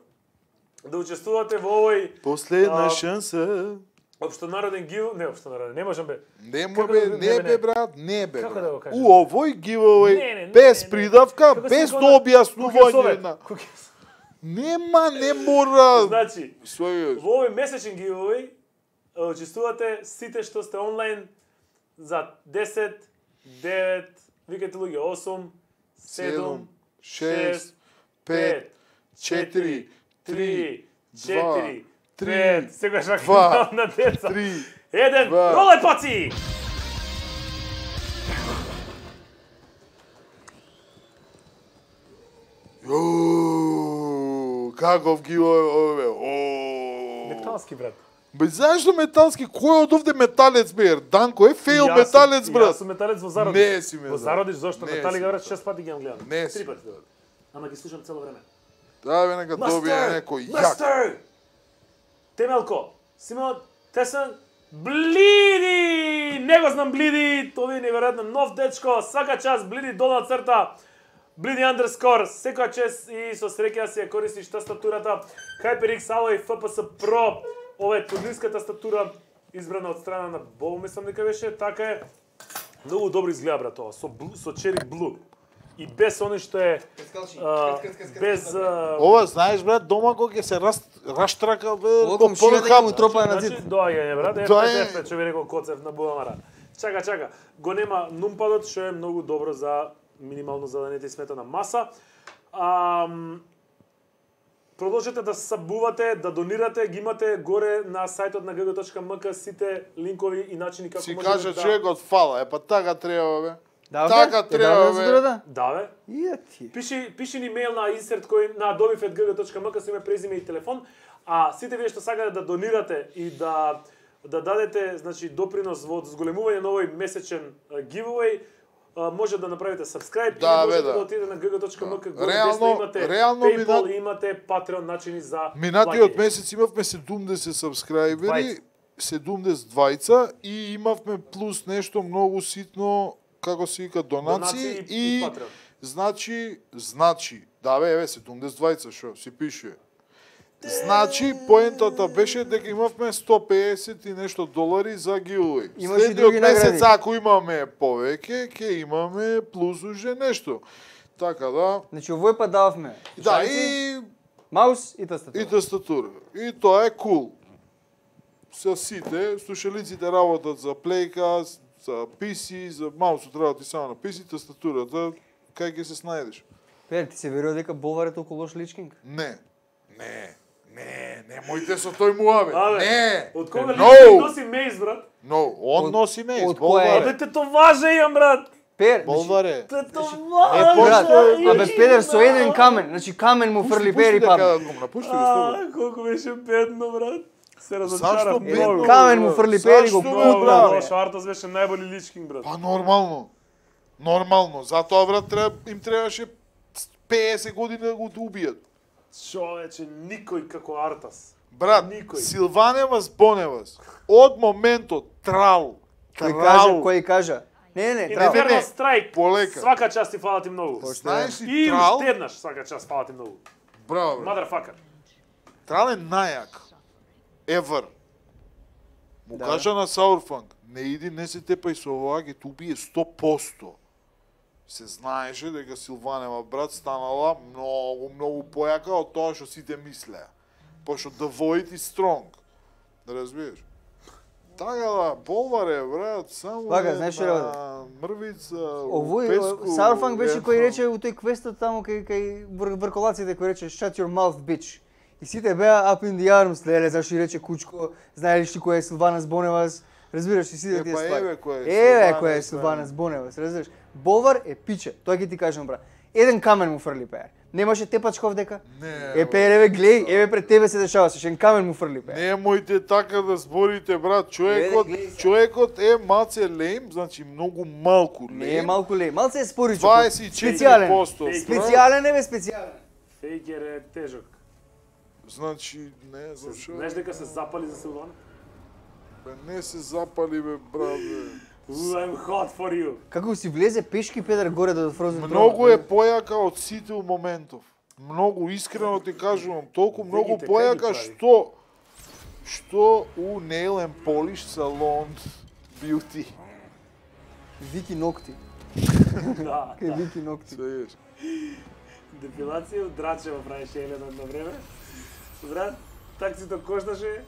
A: да учествувате во овој
C: Последна
A: А,
C: шанса.
A: општонароден гив, не општонароден, не можам бе.
C: Не
A: Како
C: му бе,
A: да го-
C: не
A: не,
C: бе
A: не.
C: брат, не бе.
A: Како
C: брат.
A: да го кажам?
C: У овој
A: Не,
C: giveaway
A: не, не,
C: без
A: не, не.
C: придавка,
A: Како
C: без
A: се
C: до
A: го на-
C: објаснување
A: Куќесовет,
C: на.
A: куќес-
C: Нема, не мора.
A: Значи,
C: Својот.
A: во овој месечен giveaway учествувате сите што сте онлайн за десет, девет, викате луѓе осум, седум,
C: шест,
A: пет,
C: пет, четири,
A: три,
C: два,
A: четири,
C: три,
A: пет, сегаш
C: два,
A: на деца.
C: три.
A: Еден,
C: два.
A: роле паци!
C: Јоу, каков giveaway ове. О.
A: Металски, брат.
C: Бе, знаеш што металски? Кој од овде металец бе? Данко е фейл
A: Јас сум-
C: металец, брат.
A: Јас сум металец во зародиш.
C: Не си металец.
A: Во зародиш, зошто
C: Не
A: метали
C: си
A: брат,
C: металец.
A: шест пати ги имам гледано.
C: Не си
A: Три пати.
C: металец.
A: Ама ги слушам цело време.
C: Да, бе, нека добие некој јак.
A: Мастер! Темелко, Симон, Тесен, Блиди! Не го знам Блиди, тоа е неверојатно нов дечко, свака час Блиди долна црта, Блиди underscore, секоја час и со среќа да си ја користиш тастатурата HyperX Alloy F P S Pro. Ова е турнирска тастатура избрана од страна на Бол, мислам дека беше, така е. Многу добро изгледа брат ова, со блу, со черри блу. и без оној што е а, без а,
C: Ова знаеш брат, дома кога ќе се раз раштрака бе,
B: Ова
C: ко
B: комшија дека му тропа на
A: значи
B: зид.
A: доаѓање брат, еф
C: Доаѓање.
A: еф што ви рекол Коцев на Буамара. Чака, чака. Го нема нумпадот што е многу добро за минимално за да не ти смета на маса. Ам, Продолжете да сабувате, да донирате, ги имате горе на сајтот на г г точка м к сите линкови и начини како
C: си
A: можете
C: кажа
A: да...
C: човекот фала, е па така треба бе.
B: Да,
C: Така
B: бе?
C: треба,
B: Е, да,
C: бе.
B: да, да.
A: Да, бе.
B: Ја ти.
A: Пиши, пиши ни мејл на insert кој на adobe at g g точка m k со име, презиме и телефон, а сите вие што сакате да донирате и да да дадете, значи, допринос во зголемување на овој месечен а, giveaway, а, може да направите subscribe
C: Да,
A: и
C: бе,
A: можете
C: да.
A: да отидете на г г точка m k, горе
C: Реално-
A: десно имате
C: реално
A: PayPal
C: минат-
A: и имате Patreon начини за
C: Минатиот
A: плаќање.
C: месец имавме седумдесет сабскрајбери,
A: Двајца.
C: седумдесет двајца и имавме плюс нешто многу ситно, како се вика, донации
A: Донации и
C: и
A: Patreon.
C: значи, значи, да бе, еве седумдесет двајца што си пишува. Значи, поентата беше дека имавме сто пеесет и нешто долари за giveaway.
B: Имаш и
C: Следниот
B: други
C: месец,
B: награди.
C: ако имаме повеќе, ќе имаме плюс уже нешто. Така да,
B: Значи овој пат дававме.
C: да,
B: слушалици,
C: и
B: маус и тастатура.
C: И тастатура. И тоа е кул. Со сите, слушалиците работат за плейка, за пи си, за маусот работи само на пи си, тастатурата, кај ќе се снајдеш?
B: Пер, ти се верува дека Болвар е толку лош личкинг?
C: Не. Не. Не, немојте со тој муабет.
A: Абе,
C: Не.
A: Од кога
C: No.
A: ли носи мейс, брат?
C: Но, он
B: Од-
C: носи мејс.
B: од која
C: Болвар
B: е?
C: е.
A: Абе, те тоа имам, брат.
B: Пер,
C: Болвар е.
A: Те тоа
C: Е,
B: брат,
C: пошто-
B: абе Педер со еден камен, значи камен му фрли Пер и падна.
C: Пусти дека го напушти го слободно.
A: А, колку беше бедно, брат. Се
C: Зашто
A: разочарав
C: бедно?
A: многу.
B: Камен му фрли Пер и го
C: Зашто, бе,
B: путна,
C: брат?
B: бре.
A: Швартас беше најболи личкинг, брат.
C: Па нормално. Нормално. Затоа брат треба им требаше пеесет години да го убијат.
A: Човече, никој како Артас.
C: Брат,
A: Никој.
C: Силваневас Боневас, од моментот трал,
B: Кој
C: трал,
B: кажа, кој кажа. Не, не, не, трал.
C: не,
A: Инферно
C: не.
A: страйк.
C: Полека.
A: Свака част ти фала ти многу.
C: знаеш ли
A: И
C: трал,
A: уште еднаш свака част фала ти многу.
C: браво, брат.
A: Motherfucker.
C: Трал е најак. Ever. Му
B: Да.
C: кажа на Саурфанг, не иди, не се тепај со ова, ќе те убие сто посто. Се знаеше дека Силванева брат станала многу, многу појака од тоа што сите мислеа. Пошто the void is strong. Да разбираш? Така да, Болвар е, брат, само
B: Вака,
C: е
B: знаеш што
C: на
B: работи?
C: мрвица,
B: Овој
C: песку,
B: Саурфанг беше
C: е,
B: кој рече у тој квестот таму кај кај вр- врколаците кој рече shut your mouth bitch. И сите беа up in the arms, леле, зашто и рече кучко, знаеш ли кој е Силванас Боневас, разбираш и сите
C: Е,
B: тие
C: па
B: ствари.
C: еве кој е
B: Еве
C: Силванас,
B: кој е
C: да.
B: Силванас Боневас, разбираш. Болвар е пиче, тоа ќе ти кажам брат. Еден камен му фрли Пеер. Немаше тепачков дека?
C: Не,
B: Е Пеер, еве глеј, еве пред тебе се дешаваше, шен камен му фрли Пеер.
C: Немојте така да зборите, брат. Човекот,
B: Гледај, гледај.
C: човекот е малце лейм, значи многу малку лейм.
B: Не е малку ле, малце е споричок.
C: дваесет и четири
B: Специјален.
C: посто. брат.
B: Специјален е бе специјален.
A: Фейкер е тежок.
C: Значи, не, зашо?
A: Знаеш дека се запали за Силван?
C: Бе, не се запали, бе, брат, бе.
A: Ooh, I'm hot for you.
B: Како си влезе пешки Педер горе до Frozen Throne?
C: Многу е појака од сите у моментов. Многу искрено ти кажувам, толку многу
A: Вегите, кај
C: појака
A: ги прави?
C: што што у Nail and Polish Salon Beauty.
B: Вики ногти.
A: Да.
B: Кај Вики ногти.
C: Свееш.
A: Депилација од Драчева правеше Елена на време. Брат, таксито кошташе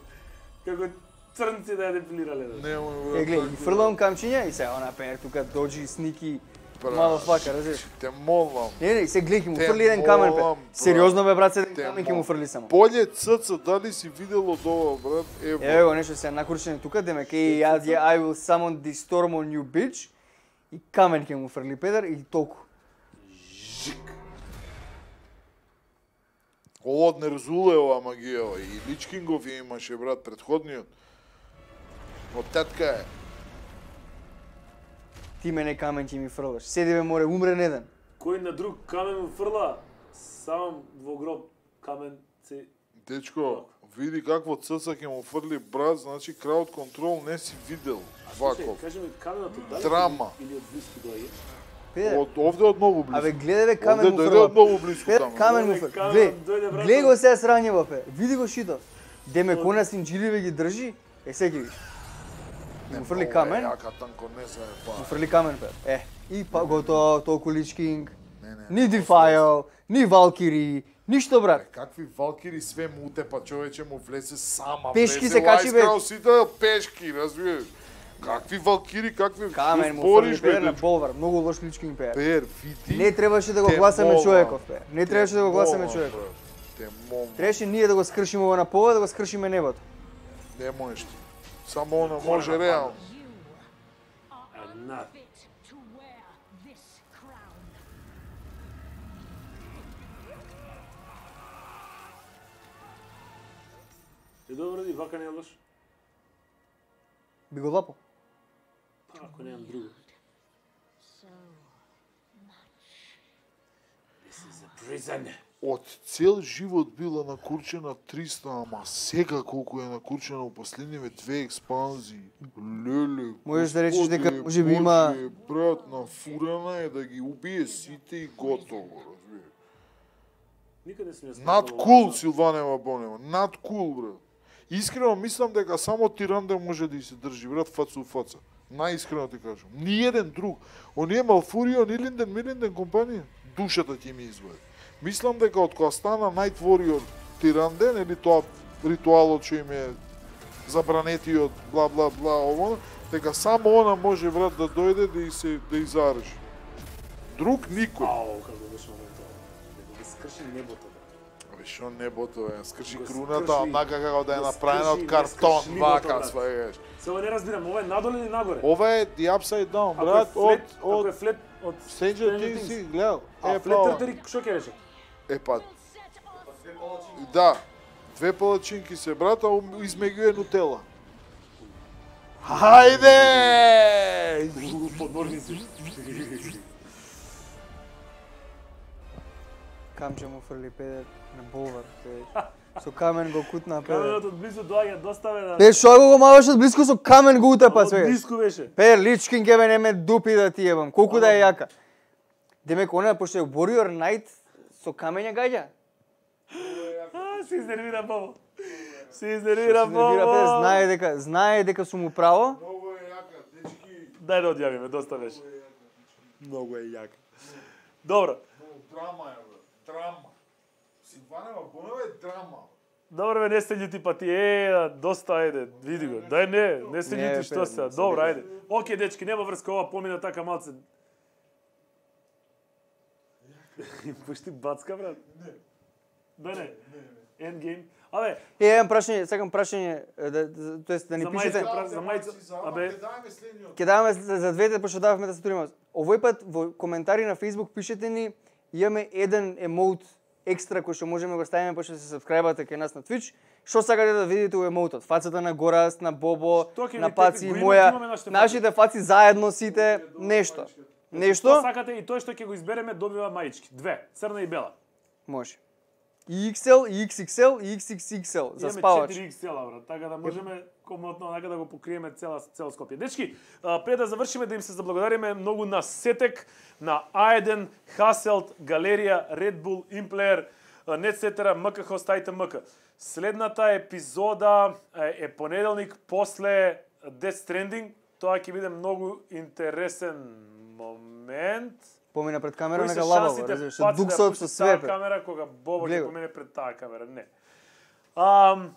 A: како црнци да ја депилирале. Да.
C: Немој, брат.
B: Е, гледај,
C: така.
B: ги фрлам камчиња и се она Педер тука доџи сники
C: Брат.
B: мало фака, разбираш?
C: Те молам.
B: Не, не, се гледај, ќе му
C: Те
B: фрли еден камен
C: молам,
B: Педер.
C: брат.
B: Сериозно бе брат, еден
C: Те
B: камен ќе му
C: молам.
B: фрли само.
C: Поле црца, дали си видел од ова, брат? Ево.
B: Еве го нешто се накручени тука, демек е ја ја I will summon the storm on you bitch. И камен ќе му фрли Педер и толку.
C: Ова од Нерзулева магија, и Личкингов ја имаше, брат, предходниот. Од тетка е.
B: Ти мене камен ќе ми фрлаш. Седи бе море, умре еден.
A: Кој на друг камен му фрла, сам во гроб камен се...
C: Дечко, види какво црца ќе му фрли, брат, значи краут контрол не си видел. Ваков.
A: Кажи ми, каменот од далеку
C: Драма.
A: или од близко доаѓа?
B: Педер,
C: Од овде од многу близко.
B: абе гледај бе
C: Овде
B: камен му
C: дојде
B: фрла.
C: од многу близко
B: Педер,
C: таму.
B: камен му
A: Овде
B: фрла.
A: камен
B: Глеј,
A: дојде, брат,
B: глеј го
A: од-
B: сега срањево пе. Види го шитов. Демек она синџиливе ги држи, е секи виж. Му фрли камен,
C: Јака танко не се е па.
B: му фрли камен пе. Е, и па готово, толку личкинг.
C: Не, не.
B: Ни Defile, ни Valkyrie, ништо брат.
C: Какви Валкири све му утепа, човече му влезе сама.
B: Пешки
C: влезе
B: се качи, бе.
C: Лајскрал, сите пешки, разбираш. Какви Валкири, какви
B: Камен му
C: спориш,
B: фрли
C: бе,
B: Пер на
C: дечко?
B: Болвар, многу лош лички им Пер.
C: Пер, види.
B: Не требаше да го
C: те
B: гласаме
C: молам,
B: човеков, Пер. Не
C: те
B: требаше да го гласаме
C: молам,
B: човеков.
C: брат, Те молам.
B: Требаше ние да го скршиме ова на пола, да го скршиме небото.
C: Не можеш ти. Само она може реално.
A: Една.
G: Fit to wear this crown.
A: Е добро, и вака не е лош.
B: Би го лапо.
A: Па, ако немам друго. This is a prison.
C: Од цел живот била накурчена триста, ама сега колку е накурчена у последниве две експанзии. Леле,
B: Можеш да речеш дека
C: Господе
B: може би има-
C: Боже, брат, нафурена е да ги убие сите и готово, разбираш.
A: Никаде се не сме.
C: Над кул Силванева Бонева, над кул, брат. Искрено мислам дека само Тиранден може да и се држи, брат, фаца у фаца. Наискрено ти кажам. Ни еден друг. Оние Малфурио, ни Линден, Милинден компанија, душата ќе ми извади. Мислам дека од кога стана Night Warrior Тиранден, или тоа ритуалот што им е забранетиот, бла бла бла, ово, дека само она може, брат, да дојде да и се да изареш. Друг никој.
A: Ау, како беше моментот. Дека ги скрши небото. Бе.
C: Абе, шо небото е, скрши
A: Го
C: круната,
A: скрши,
C: однака како да е
A: го
C: направена
A: скрши,
C: од
A: не
C: картон,
A: скрши небото,
C: вака,
A: брат.
C: сваеш.
A: Сега не разбирам, ова е надоле или нагоре?
C: Ова е The Upside Down,
A: Ако е
C: брат, од
A: флет, ако
C: од
A: е флет од
C: Stranger Things си гледал.
A: А
C: Е,
A: флет
C: па,
A: тртери, што ќе рече?
C: е па, да, две палачинки се, брат, а ум- измеѓу е нутела. Хајде!
A: Подморници.
B: Камче му фрли Педер на Болвар. Те- Со камен го кутна Педер.
A: Каменот од близу доаѓа, доставе да...
B: Пе, шо го маваш од близко со камен го утепа
A: Од
B: све.
A: близко беше.
B: Пе, личкин ке ме не ме дупи да ти ебам. Колку да е јака. Демек, она, пошто е Warrior Knight, со камења гаѓа.
A: А, се изнервира Бобо. Се изнервира
B: Се нервира, Пе,
A: Бобо.
B: знае дека, знае дека сум му право.
C: Много е јака, дечки.
A: Дај да одјавиме, доста беше. Многу е јака. Добро.
C: Много драма е, брат, драма. Силванева Бонева е драма.
A: Добро, бе, не се љути па ти, е, доста, ајде, види го. Дај не, не се
B: Не,
A: љути,
B: бе,
A: што се.
B: не се
A: Добро,
B: љути.
A: ајде. Океј, дечки, нема врска, ова помина така малце. Пушти бацка, брат? Не. Да не? Endgame. Абе,
B: Е, еден прашање, сакам прашање, е, да, да- тоест да ни
A: За
B: пишете.
A: мајска, за мајца. Абе,
C: Ќе даваме следниот.
B: Ќе даваме за, за двете, пошто дававме да се турима. Овој пат во коментари на Facebook пишете ни, имаме еден емоут екстра кој што можеме го ставиме пошто се сабскрајбате кај нас на Twitch. Што сакате да видите у емоутот? Фацата на Горас, на Бобо,
A: Што ќе ви
B: на
A: тепи?
B: Паци и
A: Го има- имаме
B: моја,
A: нашите
B: нашите фаци заедно сите, нешто.
A: што
B: Нешто?
A: сакате и тој што ќе го избереме добива маички. Две, црна и бела.
B: Може. И икс ел, и икс икс ел, и икс икс икс ел за
A: Имаме
B: спавач.
A: четири икс ел, брат, така да можеме комотно онака да го покриеме цела цел Скопје. Дечки, а, пред да завршиме да им се заблагодариме многу на Сетек, на А еден, Хаселт, Галерија, Red Bull, Implayer, Netsetera, МК Хостајте МК. Следната епизода е, е понеделник после Death Stranding. Тоа ќе биде многу интересен момент.
B: Помина пред камера
A: Кои
B: на
A: се
B: лабаво,
A: шансите
B: разбираш,
A: паци да ја
B: дуксот
A: пушти
B: со
A: таа
B: свепе.
A: камера кога Бобо ќе
B: Гледа.
A: помине пред таа камера? Не. Ам,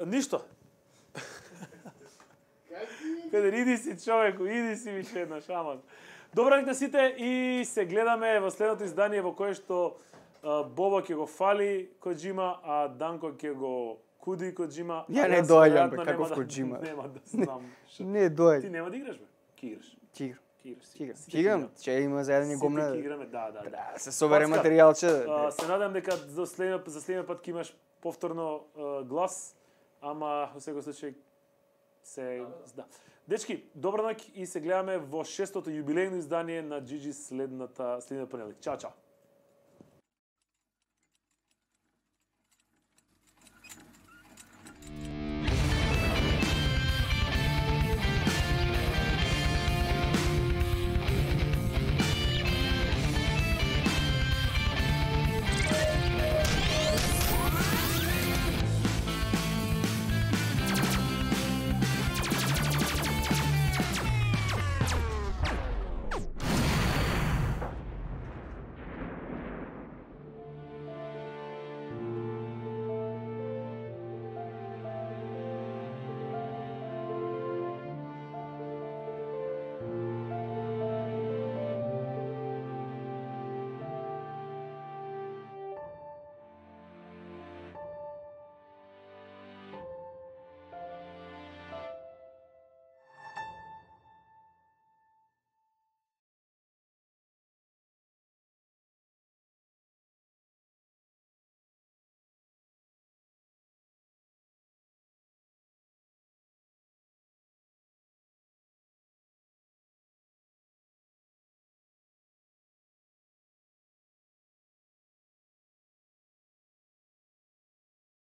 A: ништо. Педер, иди си човеку, иди си више една шаман. Добра ноќ на сите и се гледаме во следното издание во кое што а, Бобо ќе го фали Коџима, а Данко ќе го куди Коџима.
B: Ја
A: а
B: не
A: јас
B: доаѓам, бе,
A: веројатно
B: каков
A: нема да-
B: Коџима.
A: Нема да знам. што-
B: Не,
A: Ти
B: доаѓа.
A: нема да играш, бе? Ки играш?
B: Чигр.
A: Ки играш?
B: Чиграм.
A: Сите
B: Чиграм,
A: играме.
B: че има заедно
A: Сите
B: гомна.
A: ки играме, да, да, да.
B: Да, се собере
A: Пацка,
B: материјалче.
A: А, се надам дека за следниот за следниот пат ќе имаш повторно а, глас, ама во секој случај се да. Дечки, добра ноќ и се гледаме во шестото јубилејно издание на Джиджи следната следниот понеделник. Чао, чао.